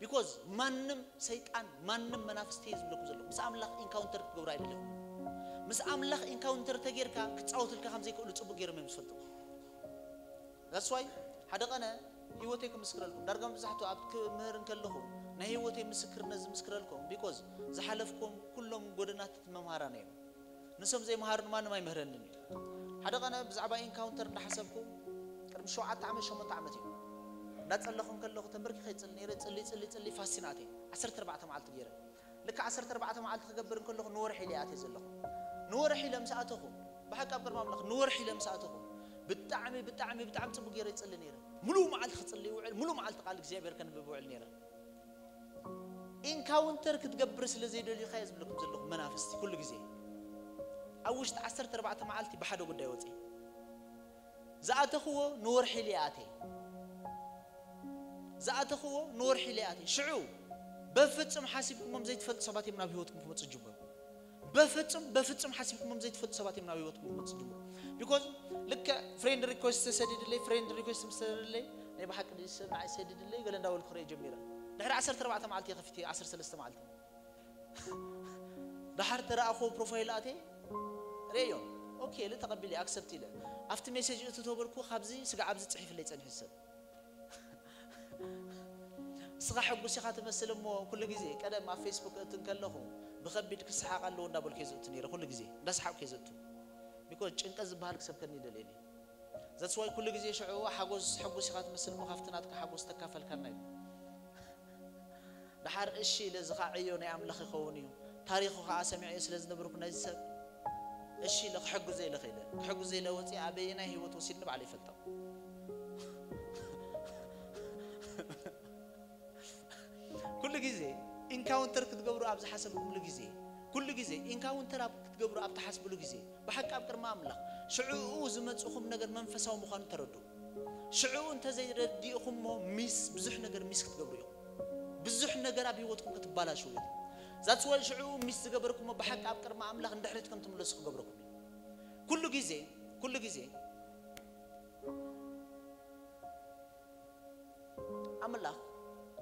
ቢኮዝ ማንም ሰይጣን ማንም መናፍስቲ እየ ዝብለኩም ዘለኹ ምስ ኣምላኽ ኢንካውንተር ክትገብሩ ኣይደለኹም። ምስ ኣምላኽ ኢንካውንተር ተጌርካ ክጻወትልካ ከም ዘይክእሉ ጽቡቅ ገይሮም እዮም ዝፈልጡ። That's why ሓደ ቀነ ህይወተይ ክምስክረልኩም ዳርጋ መብዛሕትኡ ኣብ ክምህር እንከለኹ ናይ ህይወተይ ምስክርነት ዝምስክረልኩም ቢኮዝ ዝሓለፍኩም ኩሎም ጎደናት መምሃራን እዮም። ንሶም ዘይምሃሩን ማንም ኣይምህረንን እዩ። ሓደ ቀነ ብዛዕባ ኢንካውንተር እንዳሓሰብኩ ቅድሚ ሸውዓተ ዓመት ሸሞንተ ዓመት እዩ እንዳጸለኹ እንከለኹ ተንበርኪኸ ይጽሊ ነይረ። ጽሊ ጽሊ ጽሊ ፋስቲን ኣትየ ዓሰርተ ኣርባዕተ መዓልቲ ገይረ። ልክዕ ዓሰርተ ኣርባዕተ መዓልቲ ክገብር እንከለኹ ንወርሒ ኢለ ኣትየ ዘለኹ። ንወርሒ ኢለ ምስ ኣተኹ ብሓቂ ኣብ ቅድሚ ኣምላኽ ንወርሒ ኢለ ምስ ኣተኹ ብጣዕሚ ብጣዕሚ ብጣዕሚ ጽቡቅ ገይረ ይጽሊ ነይረ። ሙሉእ መዓልቲ ክጽሊ ይውዕል፣ ሙሉእ መዓልቲ ቃል እግዚኣብሔር ከንብብ ይውዕል ነይረ። ኢንካውንተር ክትገብር ስለ ዘይደልዩካ እየ ዝብለኩም ዘለኹ መናፍስቲ ኩሉ ግዜ። ኣብ ውሽጢ ዓሰርተ ኣርባዕተ መዓልቲ ብሓደ ጉዳይ ወፅየ። ዝኣተኽዎ ንወርሒ ኢለ ኣትየ። ዝኣተኽዎ ንወርሒ ኢለ ኣትየ። ሽዑ በፍጹም ሓሲብኩሞም ዘይትፈልጡ ሰባት እዮም ናብ ህይወትኩም ክመፁ ዝጅምሩ። በፍጹም በፍጹም ሓሲብኩሞም ዘይትፈልጡ ሰባት እዮም ናብ ህይወትኩም ክመፁ ዝጅምሩ። ቢኮዝ ልክዕ ፍሬንድ ሪኩዌስት ተሰዲድለይ፣ ፍሬንድ ሪኩዌስት ምስ ተሰደደለይ ናይ ብሓቂ ድዩ ሰብ ንዓይ ሰዲድለይ ገለ እንዳበልኩ ክርኢ ጀሚረ። ድሕሪ ዓሰርተ ኣርባዕተ መዓልቲ እየ ከፊተ፣ ዓሰርተ ሰለስተ መዓልቲ። ደሓር ተረኣኽዎ ፕሮፋይል ኣትየ ርእዮ። ኦኬ ኢለ ተቐቢለ ኣክሰፕት ኢለ ኣብቲ ሜሴጅ እቱ ተበልኩ። ካብዚ ስጋዕ ኣብዚ ጽሒፍለይ ጸኒሑ ሰብ። ንስኻ ሕጉስ ኢኻ ትመስል እሞ ኩሉ ግዜ ቀደም ኣብ ፌስቡክ እቱ እንከለኹ ብኸቢድ ክሰሓቕ ኣለዎ እንዳበልኩ እየ ዝእቱ ነይረ። ኩሉ ግዜ እንዳሰሓቕኩ እየ ዝእቱ። ቢኮዝ ጭንቀት ዝበሃል ክሰብከኒ ይደልየኒ። That's why ኩሉ ግዜ ሽዑ ሓጎስ ሕጉስ ኢኻ ትመስል እሞ ካብቲ ናትካ ሓጎስ ተካፈልካና እዩ። ደሓር እሺ ኢለ እዚ ኸዓ ዕዮ ናይ ኣምላኽ ይኸውን እዩ። ታሪኹ ኸዓ ሰሚዐዮ ስለ ዝነበርኩ ነዚ ሰብ እሺ ኢለ ክሕግዞ ኢለ ኸይደ። ክሕግዞ ኢለ ወፂአ ኣበየናይ ህይወት ወሲድኒ ባዕሉ ይፈልጦ። ኩሉ ግዜ ኢንካውንተር ክትገብሩ ኣብ ዝሓሰብኩምሉ ግዜ፣ ኩሉ ግዜ ኢንካውንተር ኣብ ክትገብሩ ኣብ ትሓስብሉ ግዜ፣ ብሓቂ ኣብ ቅድሚ ኣምላኽ ሽዕኡ ዝመፅኹም ነገር መንፈሳዊ ምዃኑ ተረድኡ። ሽዕኡ እንተዘይረዲእኹሞ ሚስ፣ ብዙሕ ነገር ሚስ ክትገብሩ ኢኹም። ብዙሕ ነገር ኣብ ህይወትኩም ክትባላሽው ኢኹም። That's why ሽዕኡ ሚስ ዝገበርኩሞ ብሓቂ ኣብ ቅድሚ ኣምላኽ ንድሕሪት ከም ትምለሱ ክገብረኩም እዩ። ኩሉ ግዜ፣ ኩሉ ግዜ ኣምላኽ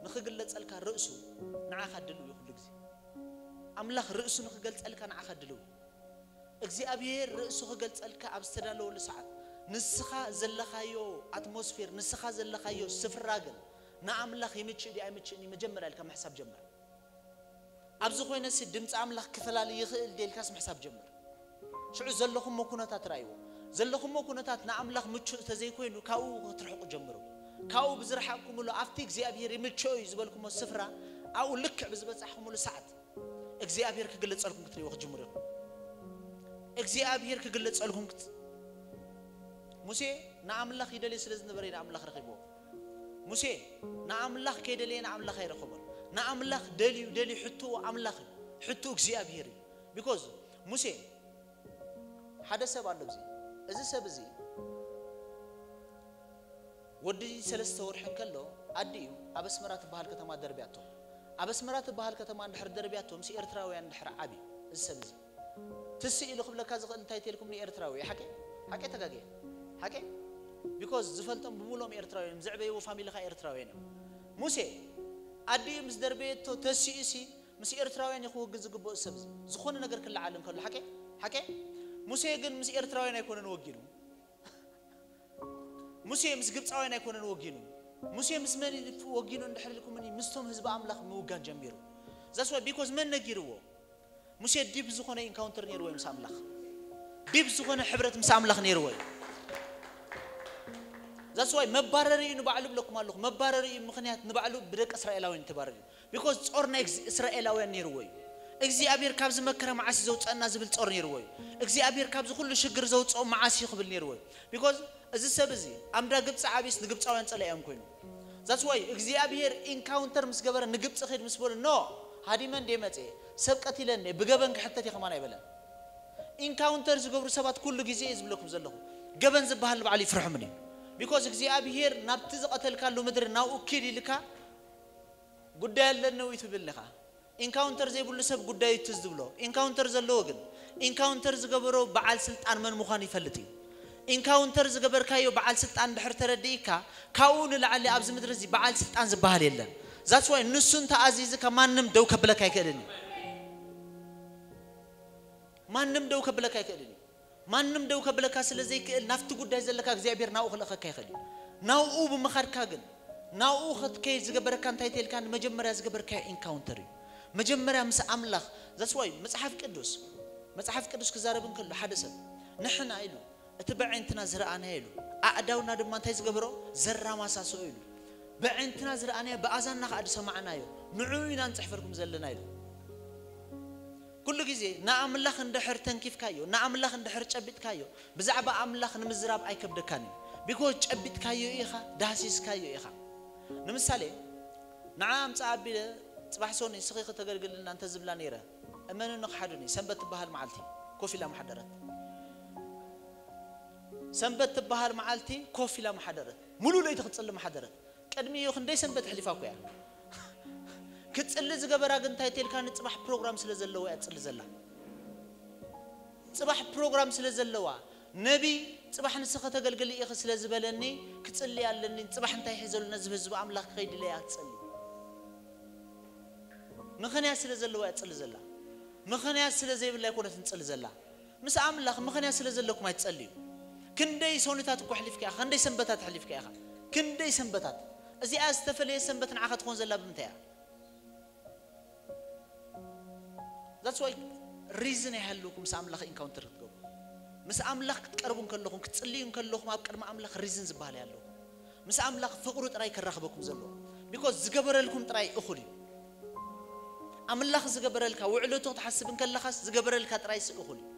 ንኽግለጸልካ ርእሱ ንዓኻ ድልው እዩ። ኩሉ ግዜ ኣምላኽ ርእሱ ንኽገልጸልካ ንዓኻ ድልው እዩ። እግዚኣብሔር ርእሱ ክገልጸልካ ኣብ ዝተዳለወሉ ሰዓት፣ ንስኻ ዘለኻዮ ኣትሞስፌር፣ ንስኻ ዘለኻዮ ስፍራ ግን ንኣምላኽ ይምችእ ድዩ ኣይምችእን እዩ መጀመርያ ኢልካ ምሕሳብ ጀምር። ኣብዚ ኮይነሲ ድምፂ ኣምላኽ ክፈላሊ ይኽእል ድየ ኢልካስ ምሕሳብ ጀምር። ሽዑ ዘለኹሞ ኩነታት ርኣይዎ። ዘለኹሞ ኩነታት ንኣምላኽ ምቹእ እንተዘይኮይኑ ካብኡ ክትርሕቁ ጀምሩ። ካብኡ ብዝረሓቅኩምሉ ኣብቲ እግዚኣብሔር ይምችኦ እዩ ዝበልኩሞ ስፍራ ኣብኡ ልክዕ ብዝበጻሕኩምሉ ሰዓት እግዚኣብሔር ክግለጸልኩም ክትርእይዎ ክትጅምሩ ኢኹም። እግዚኣብሔር ክግለጸልኩም ክት-፣ ሙሴ ንኣምላኽ ይደልዮ ስለ ዝነበረ እዩ ንኣምላኽ ረኺብዎ። ሙሴ ንኣምላኽ ከይደለየ ንኣምላኽ ኣይረኸቦን። ንኣምላኽ ደልዩ ደልዩ ሕትኡ ኣምላኽ እዩ። ሕትኡ እግዚኣብሔር እዩ። ቢኮዝ ሙሴ ሓደ ሰብ ኣሎ። እዚ፣ እዚ ሰብ እዚ ወዲ ሰለስተ ወርሒ እንከሎ ኣዲኡ ኣብ ኣስመራ ትበሃል ከተማ ደርብያቶ። ኣብ ኣስመራ ትበሃል ከተማ እንድሕር ደርብያቶ ምስ ኤርትራውያን እንድሕር ዓብዩ እዚ ሰብ እዚ ትስእ ኢሉ ክብለካ ዝኽእል እንታይ ተልኩም ንኤርትራዊ ሓቂ ሓቂ ተጋገየ ሓቂ ቢኮዝ ዝፈልጦም ብምሎም ኤርትራውያን ዘዕበይዎ ፋሚሊ ኻ ኤርትራውያን እዮም። ሙሴ ኣዲኡ ምስ ደርበየቶ ተሲኡ ሲ ምስ ኤርትራውያን እዩ ክወግን ዝግብኦ ሰብ እዚ ዝኾነ ነገር ክለዓል እንከሎ ሓቂ ሓቂ ሙሴ ግን ምስ ኤርትራውያን ኣይኮነን ወጊኑ። ሙሴ ምስ ግብፃውያን ኣይኮነን ወጊኑ። ሙሴ ምስ መን ወጊኑ እንድሕር ኢልኩምኒ ምስቶም ህዝቢ ኣምላኽ ምውጋን ጀሚሩ። That's why because መን ነጊርዎ? ሙሴ ዲፕ ዝኾነ ኢንካውንተር ነይርዎ እዩ ምስ ኣምላኽ። ዲፕ ዝኾነ ሕብረት ምስ ኣምላኽ ነይርዎ እዩ። That's why መባረሪ እዩ ንባዕሉ ብለኩም ኣለኹ። መባረሪ እዩ ምኽንያት ንባዕሉ ብደቂ እስራኤላውያን ተባረሪ። Because ጾር ናይ እስራኤላውያን ነይርዎ እዩ። እግዚኣብሔር ካብዚ መከራ መዓስ ዘውፀና ዝብል ጾር ነይርዎ እዩ። እግዚኣብሔር ካብዚ ኩሉ ሽግር ዘውፅኦ መዓስ እዩ ክብል ነይርዎ እዩ። Because እዚ ሰብ እዚ ኣምዳ ግብፂ ዓብስ ንግብፃውያን ፀላእዮም ኮይኑ That's why እግዚኣብሔር ኢንካውንተር ምስ ገበረ ንግብፂ ኺድ ምስ በሉ ኖ ሃዲመ እንደ መፅየ ሰብ ቀቲለ እንደ ብገበን ክሕተት እየ ከማን ኣይበለን። ኢንካውንተር ዝገብሩ ሰባት ኩሉ ግዜ እየ ዝብለኩም ዘለኹ ገበን ዝበሃል ንባዕሉ ይፍርሖምን እዩ። Because እግዚኣብሔር ናብቲ ዝቐተልካሉ ምድሪ ናብኡ ኪድ ኢልካ ጉዳይ ኣለኒ ወይ ትብል ኢኻ። ኢንካውንተር ዘይብሉ ሰብ ጉዳዩ ትዝ ዝብሎ። ኢንካውንተር ዘለዎ ግን ኢንካውንተር ዝገበሮ በዓል ስልጣን መን ምዃኑ ይፈልጥ እዩ። ኢንካውንተር ዝገበርካዮ በዓል ስልጣን ድሕር ተረዲእካ፣ ካብኡ ንላዕሊ ኣብዚ ምድሪ እዚ በዓል ስልጣን ዝበሃል የለን። That's why ንሱ እንተኣዚዝካ ማንም ደው ከብለካ ኣይክእልን እዩ። ማንም ደው ከብለካ ኣይክእልን እዩ። ማንም ደው ከብለካ ስለ ዘይክእል ናብቲ ጉዳይ ዘለካ እግዚኣብሔር ናብኡ ክልእኸካ ይኽእል እዩ። ናብኡ ብምኻድካ ግን ናብኡ ክትከይድ ዝገበረካ እንታይ ተልካ? ንመጀመርያ ዝገበርካዮ ኢንካውንተር እዩ። መጀመርያ ምስ ኣምላኽ። That's why መጽሓፍ ቅዱስ መጽሓፍ ቅዱስ ክዛረብ እንከሎ ሓደ ሰብ ንሕና ኢሉ እቲ በዐይንትና ዝረኣናዮ ኢሉ ኣእዳውና ድማ እንታይ ዝገብሮ ዘራማሳሶ ኢሉ በዐይንትና ዝረኣናዮ ብኣዛንና ከዓ ዝሰማዕናዮ ንዕኡ ኢና ንጽሕፈልኩም ዘለና ኢሉ። ኩሉ ግዜ ንኣምላኽ እንድሕር ተንኪፍካዮ ንኣምላኽ እንድሕር ጨቢጥካዮ ብዛዕባ ኣምላኽ ንምዝራብ ኣይከብደካን እዩ። ቢኮዝ ጨቢጥካዮ ኢኻ ዳህሲስካዮ ኢኻ። ንምሳሌ ንዓ ኣምፅኣ ኣቢለ ፅባሕ ሶኒ ንስኺ ከተገልግልና እንተዝብላ ነይረ እመንኒ ክሓዱኒ ሰንበት ትበሃል መዓልቲ ኮፍ ኢላ ምሓደረት። ሰንበት ትበሃል መዓልቲ ኮፍ ኢላ ምሓደረት። ሙሉእ ለይቲ ክትፅሊ ምሓደረት። ቅድሚ እዩ ክንደይ ሰንበት ኣሕሊፋ እኮ እያ ክትፅሊ ዝገበራ ግን እንታይ ተልካ ንፅባሕ ፕሮግራም ስለ ዘለዋ እያ ትፅሊ ዘላ። ፅባሕ ፕሮግራም ስለ ዘለዋ ነቢ ፅባሕ ንስኺ ከተገልግሊ ኢኺ ስለ ዝበለኒ ክፅሊ ኣለኒ። ፅባሕ እንታይ ይሕዘሉ ነዚ ህዝቢ ኣምላኽ ክኸይድ ኢለ እያ ትፅሊ። ምኽንያት ስለ ዘለዋ እያ ትፅሊ ዘላ። ምኽንያት ስለ ዘይብላ ኣይኮነትን ትፅሊ ዘላ። ምስ ኣምላኽ ምኽንያት ስለ ዘለኩም ኣይትጸልዩ። ክንደይ ሶኒታት እኮ ኣሕሊፍካ ኢኻ፣ ክንደይ ሰንበታት ኣሕሊፍካ ኢኻ፣ ክንደይ ሰንበታት። እዚኣ ዝተፈለየ ሰንበት ንዓኻ ትኾን ዘላ ብምንታይ እያ? That's why ሪዝን ኣይሃልውኩም ምስ ኣምላኽ ኢንካውንተር ክትገብሩ። ምስ ኣምላኽ ክትቀርቡ እንከለኹም ክትጽልዩ እንከለኹም ኣብ ቅድሚ ኣምላኽ ሪዝን ዝበሃል ኣይሃልውኩም። ምስ ኣምላኽ ፍቕሩ ጥራይ ከራኽበኩም ዘለዎ። ቢኮዝ ዝገበረልኩም ጥራይ እኹል እዩ። ኣምላኽ ዝገበረልካ ውዕለቱ ክትሓስብ እንከለኻስ ዝገበረልካ ጥራይ እኹል እዩ።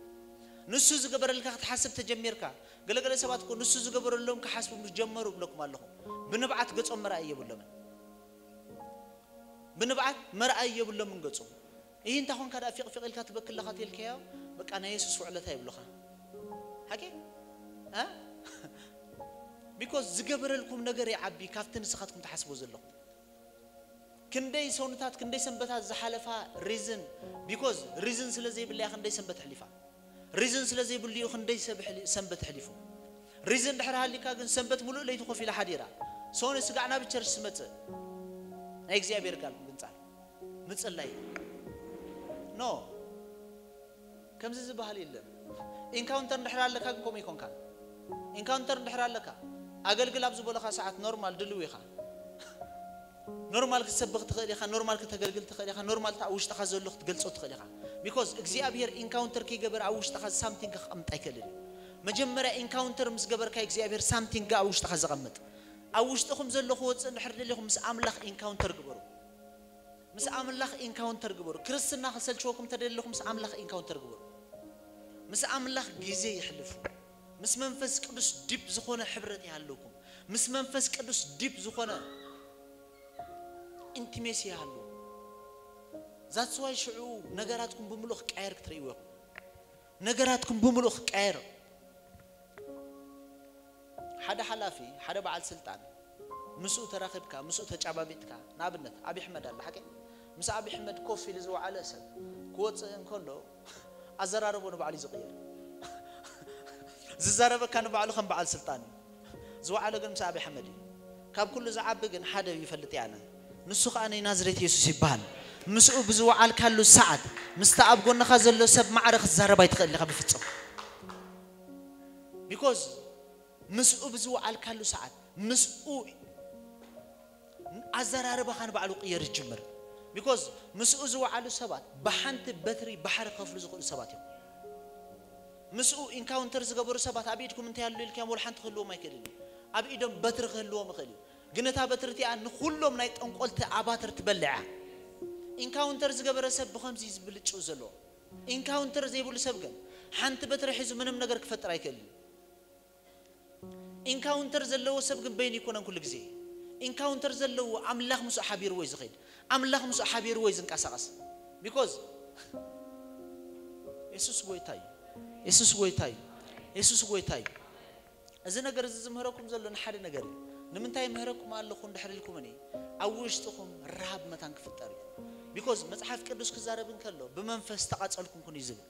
ንሱ ዝገበረልካ ክትሓስብ ተጀሚርካ ገለገለ ሰባት እኮ ንሱ ዝገበረሎም ክሓስቡ ምስ ጀመሩ እብለኩም ኣለኹ። ብንብዓት ገጾም መርኣይ የብሎምን። ብንብዓት መርኣይ የብሎምን ገጾም። ይህ እንታይ ኾንካ ደኣ ፊቕ ፊቕ ኢልካ ትበክለኻ ተልካዮ በቃ ናይ የሱስ ውዕለታ ይብሉኻ። ሓቂ ቢኮዝ ዝገበረልኩም ነገር ይዓቢ ካብቲ ንስኻትኩም ትሓስቦ ዘለኹም። ክንደይ ሰውንታት ክንደይ ሰንበታት ዝሓለፋ ሪዝን ቢኮዝ ሪዝን ስለ ዘይብለያ ክንደይ ሰንበት ኣሕሊፋ። ሪዝን ስለ ዘይብሉ እዩ ክንደይ ሰብ ኣሕሊ- ሰንበት ኣሕሊፉ። ሪዝን ድሕር ሃሊካ ግን ሰንበት ሙሉእ ለይቲ ኮፍ ኢላ ሓዲራ። ሶኒ ስጋዕ ናብ ቸርች ትመጽእ ናይ እግዚኣብሔር ቃል ምግንጻል ምጽላይ ኖ ከምዚ ዝበሃል የለን። ኢንካውንተር እንድሕር ኣለካ ግን ከምኡ ይኮንካ። ኢንካውንተር እንድሕር ኣለካ ኣገልግል ኣብ ዝበለኻ ሰዓት ኖርማል ድልው ኢኻ። ኖርማል ክትሰብኽ ትኽእል ኢኻ፣ ኖርማል ክተገልግል ትኽእል ኢኻ፣ ኖርማል ኣብ ውሽጥኻ ዘሎ ክትገልጾ ትኽእል ኢኻ። ቢኮዝ እግዚኣብሔር ኢንካውንተር ከይገበረ ኣብ ውሽጥኻ ሳምቲንግ ክቐምጥ ኣይክእልን እዩ። መጀመርያ ኢንካውንተር ምስ ገበርካ እግዚኣብሔር ሳምቲንግ ኣብ ውሽጥኻ ዘቐምጥ። ኣብ ውሽጥኹም ዘሎ ክወፅእ እንድሕር ደሊኹም ምስ ኣምላኽ ኢንካውንተር ግበሩ። ምስ ኣምላኽ ኢንካውንተር ግበሩ። ክርስትና ክሰልችወኩም ተደለኹም ምስ ኣምላኽ ኢንካውንተር ግበሩ። ምስ ኣምላኽ ግዜ ይሕልፉ። ምስ መንፈስ ቅዱስ ዲፕ ዝኾነ ሕብረት ይሃለውኩም። ምስ መንፈስ ቅዱስ ዲፕ ዝኾነ ኢንቲሜሲ ይሃሉ። ዛትስዋይ ሽዑ ነገራትኩም ብምሉእ ክቃየር ክትርእይዎ ኢኹም። ነገራትኩም ብምሉእ ክቃየር ሓደ ሓላፊ ሓደ በዓል ስልጣን ምስኡ ተራኺብካ ምስኡ ተጫባቢጥካ ንኣብነት ኣብ ኣሕመድ ኣለ ሓቂ ምስ ኣብ ኣሕመድ ኮፍ ኢሉ ዝወዓለ ሰብ ክወፅእ እንከሎ ኣዘራርቦ ንባዕሉ እዩ ዝቕየር። ዝዛረበካ ንባዕሉ ከም በዓል ስልጣን እዩ። ዝወዓለ ግን ምስ ኣብ ኣሕመድ እዩ። ካብ ኩሉ ዝዓቢ ግን ሓደ ይፈልጥ እየ ኣነ። ንሱ ከዓ ናይ ናዝሬት የሱስ ይበሃል። ምስኡ ብዝወዓልካሉ ሰዓት ምስቲ ኣብ ጎንኻ ዘሎ ሰብ ማዕረ ክትዛረብ ኣይትኽእል ኢኻ ብፍጹም። ቢኮዝ ምስኡ ብዝወዓልካሉ ሰዓት ምስኡ ኣዘራርባኻ ንባዕሉ ቅየር ይጅምር። ቢኮዝ ምስኡ ዝወዓሉ ሰባት ብሓንቲ በትሪ ባሕሪ ክኸፍሉ ዝኽእሉ ሰባት እዮም። ምስኡ ኢንካውንተር ዝገበሩ ሰባት ኣብ ኢድኩም እንታይ ኣሎ ኢልካዮም ወላ ሓንቲ ክህልዎም ኣይክእልን እዩ። ኣብ ኢዶም በትሪ ክህልዎም ይኽእል እዩ። ግን እታ በትሪ እቲኣ ንኩሎም ናይ ጠንቆልቲ ኣባትር ትበልዕ እያ። ኢንካውንተር ዝገበረ ሰብ ብኸምዚ እዩ ዝብልጭው ዘሎ። ኢንካውንተር ዘይብሉ ሰብ ግን ሓንቲ በትሪ ሒዙ ምንም ነገር ክፈጥር ኣይክእልን። ኢንካውንተር ዘለዎ ሰብ ግን በይኑ ይኮነን ኩሉ ግዜ። ኢንካውንተር ዘለዎ ኣምላኽ ምስኡ ሓቢርዎ እዩ ዝኸይድ። ኣምላኽ ምስኡ ሓቢርዎ እዩ ዝንቀሳቐስ። ቢኮዝ የሱስ ጎይታ እዩ። የሱስ ጎይታ እዩ። የሱስ ጎይታ እዩ። እዚ ነገር እዚ ዝምህረኩም ዘሎ ንሓደ ነገር እዩ። ንምንታይ ምህረኩም ኣለኹ እንድሕር ኢልኩምኒ ኣብ ውሽጥኹም ረሃብ መታን ክፍጠር እዩ። because መጽሓፍ ቅዱስ ክዛረብ እንከሎ ብመንፈስ ዝተቓጸልኩም ኩኑ እዩ ዝብል።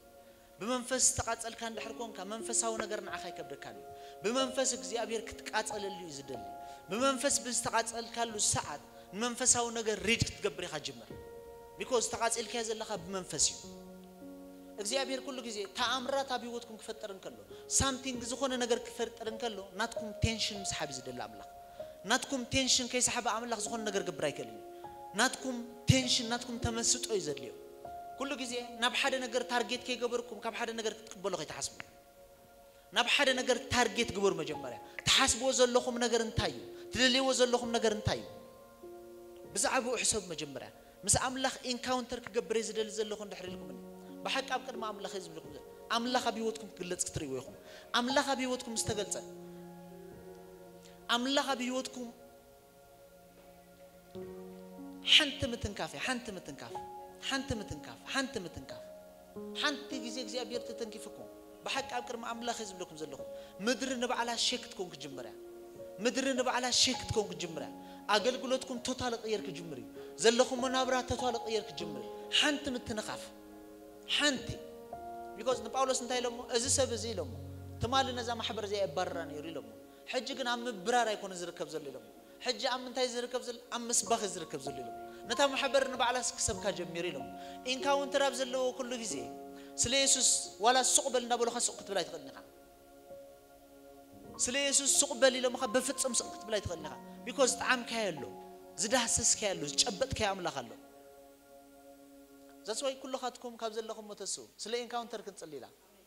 ብመንፈስ ዝተቓጸልካ እንድሕር ኮንካ መንፈሳዊ ነገር ንዓኻ ኣይከብደካን እዩ። ብመንፈስ እግዚኣብሔር ክትቃጸለሉ እዩ ዝደሊ። ብመንፈስ ብዝተቓጸልካሉ ሰዓት ንመንፈሳዊ ነገር read ክትገብር ኢኻ ጅምር። Because ተቓጺልካዮ ዘለኻ ብመንፈስ እዩ። እግዚኣብሔር ኩሉ ግዜ ተኣምራት ኣብ ህይወትኩም ክፈጥር እንከሎ፣ something ዝኾነ ነገር ክፈጥር እንከሎ ናትኩም ቴንሽን ምስሓብ እዩ ዝደሊ ኣምላኽ። ናትኩም ቴንሽን ከይሰሓበ ኣምላኽ ዝኾነ ነገር ክገብር ኣይክእልን እዩ። ናትኩም ቴንሽን ናትኩም ተመስጦ እዩ ዘድልዮ። ኩሉ ግዜ ናብ ሓደ ነገር ታርጌት ከይገበርኩም ካብ ሓደ ነገር ክትቅበሉ ከይትሓስቡ። ናብ ሓደ ነገር ታርጌት ግበሩ። መጀመርያ ትሓስብዎ ዘለኹም ነገር እንታይ እዩ? ትደልይዎ ዘለኹም ነገር እንታይ እዩ? ብዛዕባኡ ሕሰቡ። መጀመርያ ምስ ኣምላኽ ኢንካውንተር ክገብር እየ ዝደሊ ዘለኹ እንድሕር ኢልኩምኒ፣ ብሓቂ ኣብ ቅድሚ ኣምላኽ እየ ዝብለኩም ዘሎ። ኣምላኽ ኣብ ህይወትኩም ክግለጽ ክትርእይዎ ኢኹም። ኣምላኽ ኣብ ህይወትኩም ዝተገልጸ፣ ኣምላኽ ኣብ ህይወትኩም ሓንቲ ምትንካፍ እያ። ሓንቲ ምትንካፍ፣ ሓንቲ ምትንካፍ፣ ሓንቲ ምትንካፍ። ሓንቲ ግዜ እግዚኣብሔር ተተንኪፍኩም፣ ብሓቂ ኣብ ቅድሚ ኣምላኽ እየ ዝብለኩም ዘለኹ፣ ምድሪ ንባዕላ ሼክ ክትኮን ክትጅምር እያ። ምድሪ ንባዕላ ሼክ ክትኮን ክትጅምር እያ። ኣገልግሎትኩም ቶታል ቅየር ክጅምር እዩ። ዘለኹሞ ናብራ ቶታል ቅየር ክጅምር እዩ። ሓንቲ ምትንኻፍ፣ ሓንቲ። ቢኮዝ ንጳውሎስ እንታይ ኢሎሞ? እዚ ሰብ እዚ ኢሎሞ፣ ትማሊ ነዛ ማሕበር እዚኣ የባርራ ነይሩ ኢሎሞ፣ ሕጂ ግን ኣብ ምብራር ኣይኮነ ዝርከብ ዘሎ ኢሎሞ። ሕጂ ኣብ ምንታይ ዝርከብ ዘሎ? ኣብ ምስባኽ ዝርከብ ዘሎ ኢሎሞ። ነታ ማሕበር ንባዕላ ክሰብካ ጀሚሩ ኢሎሞ። ኢንካውንተር ኣብ ዘለዎ ኩሉ ግዜ ስለ የሱስ ዋላ ሱቕ በል እንዳበሉኻ ሱቕ ክትብል ኣይትኽእልን ኢኻ። ስለ የሱስ ሱቕ በል ኢሎምኻ በፍጹም ሱቕ ክትብል ኣይትኽእልን ኢኻ። ቢኮዝ ዝጠዓምካዮ ኣሎ፣ ዝዳህሰስካዮ ኣሎ፣ ዝጨበጥካዮ ኣምላኽ ኣሎ። That's why ኩልኻትኩም ካብ ዘለኹሞ ተስኡ፣ ስለ ኢንካውንተር ክንጽሊ ኢና።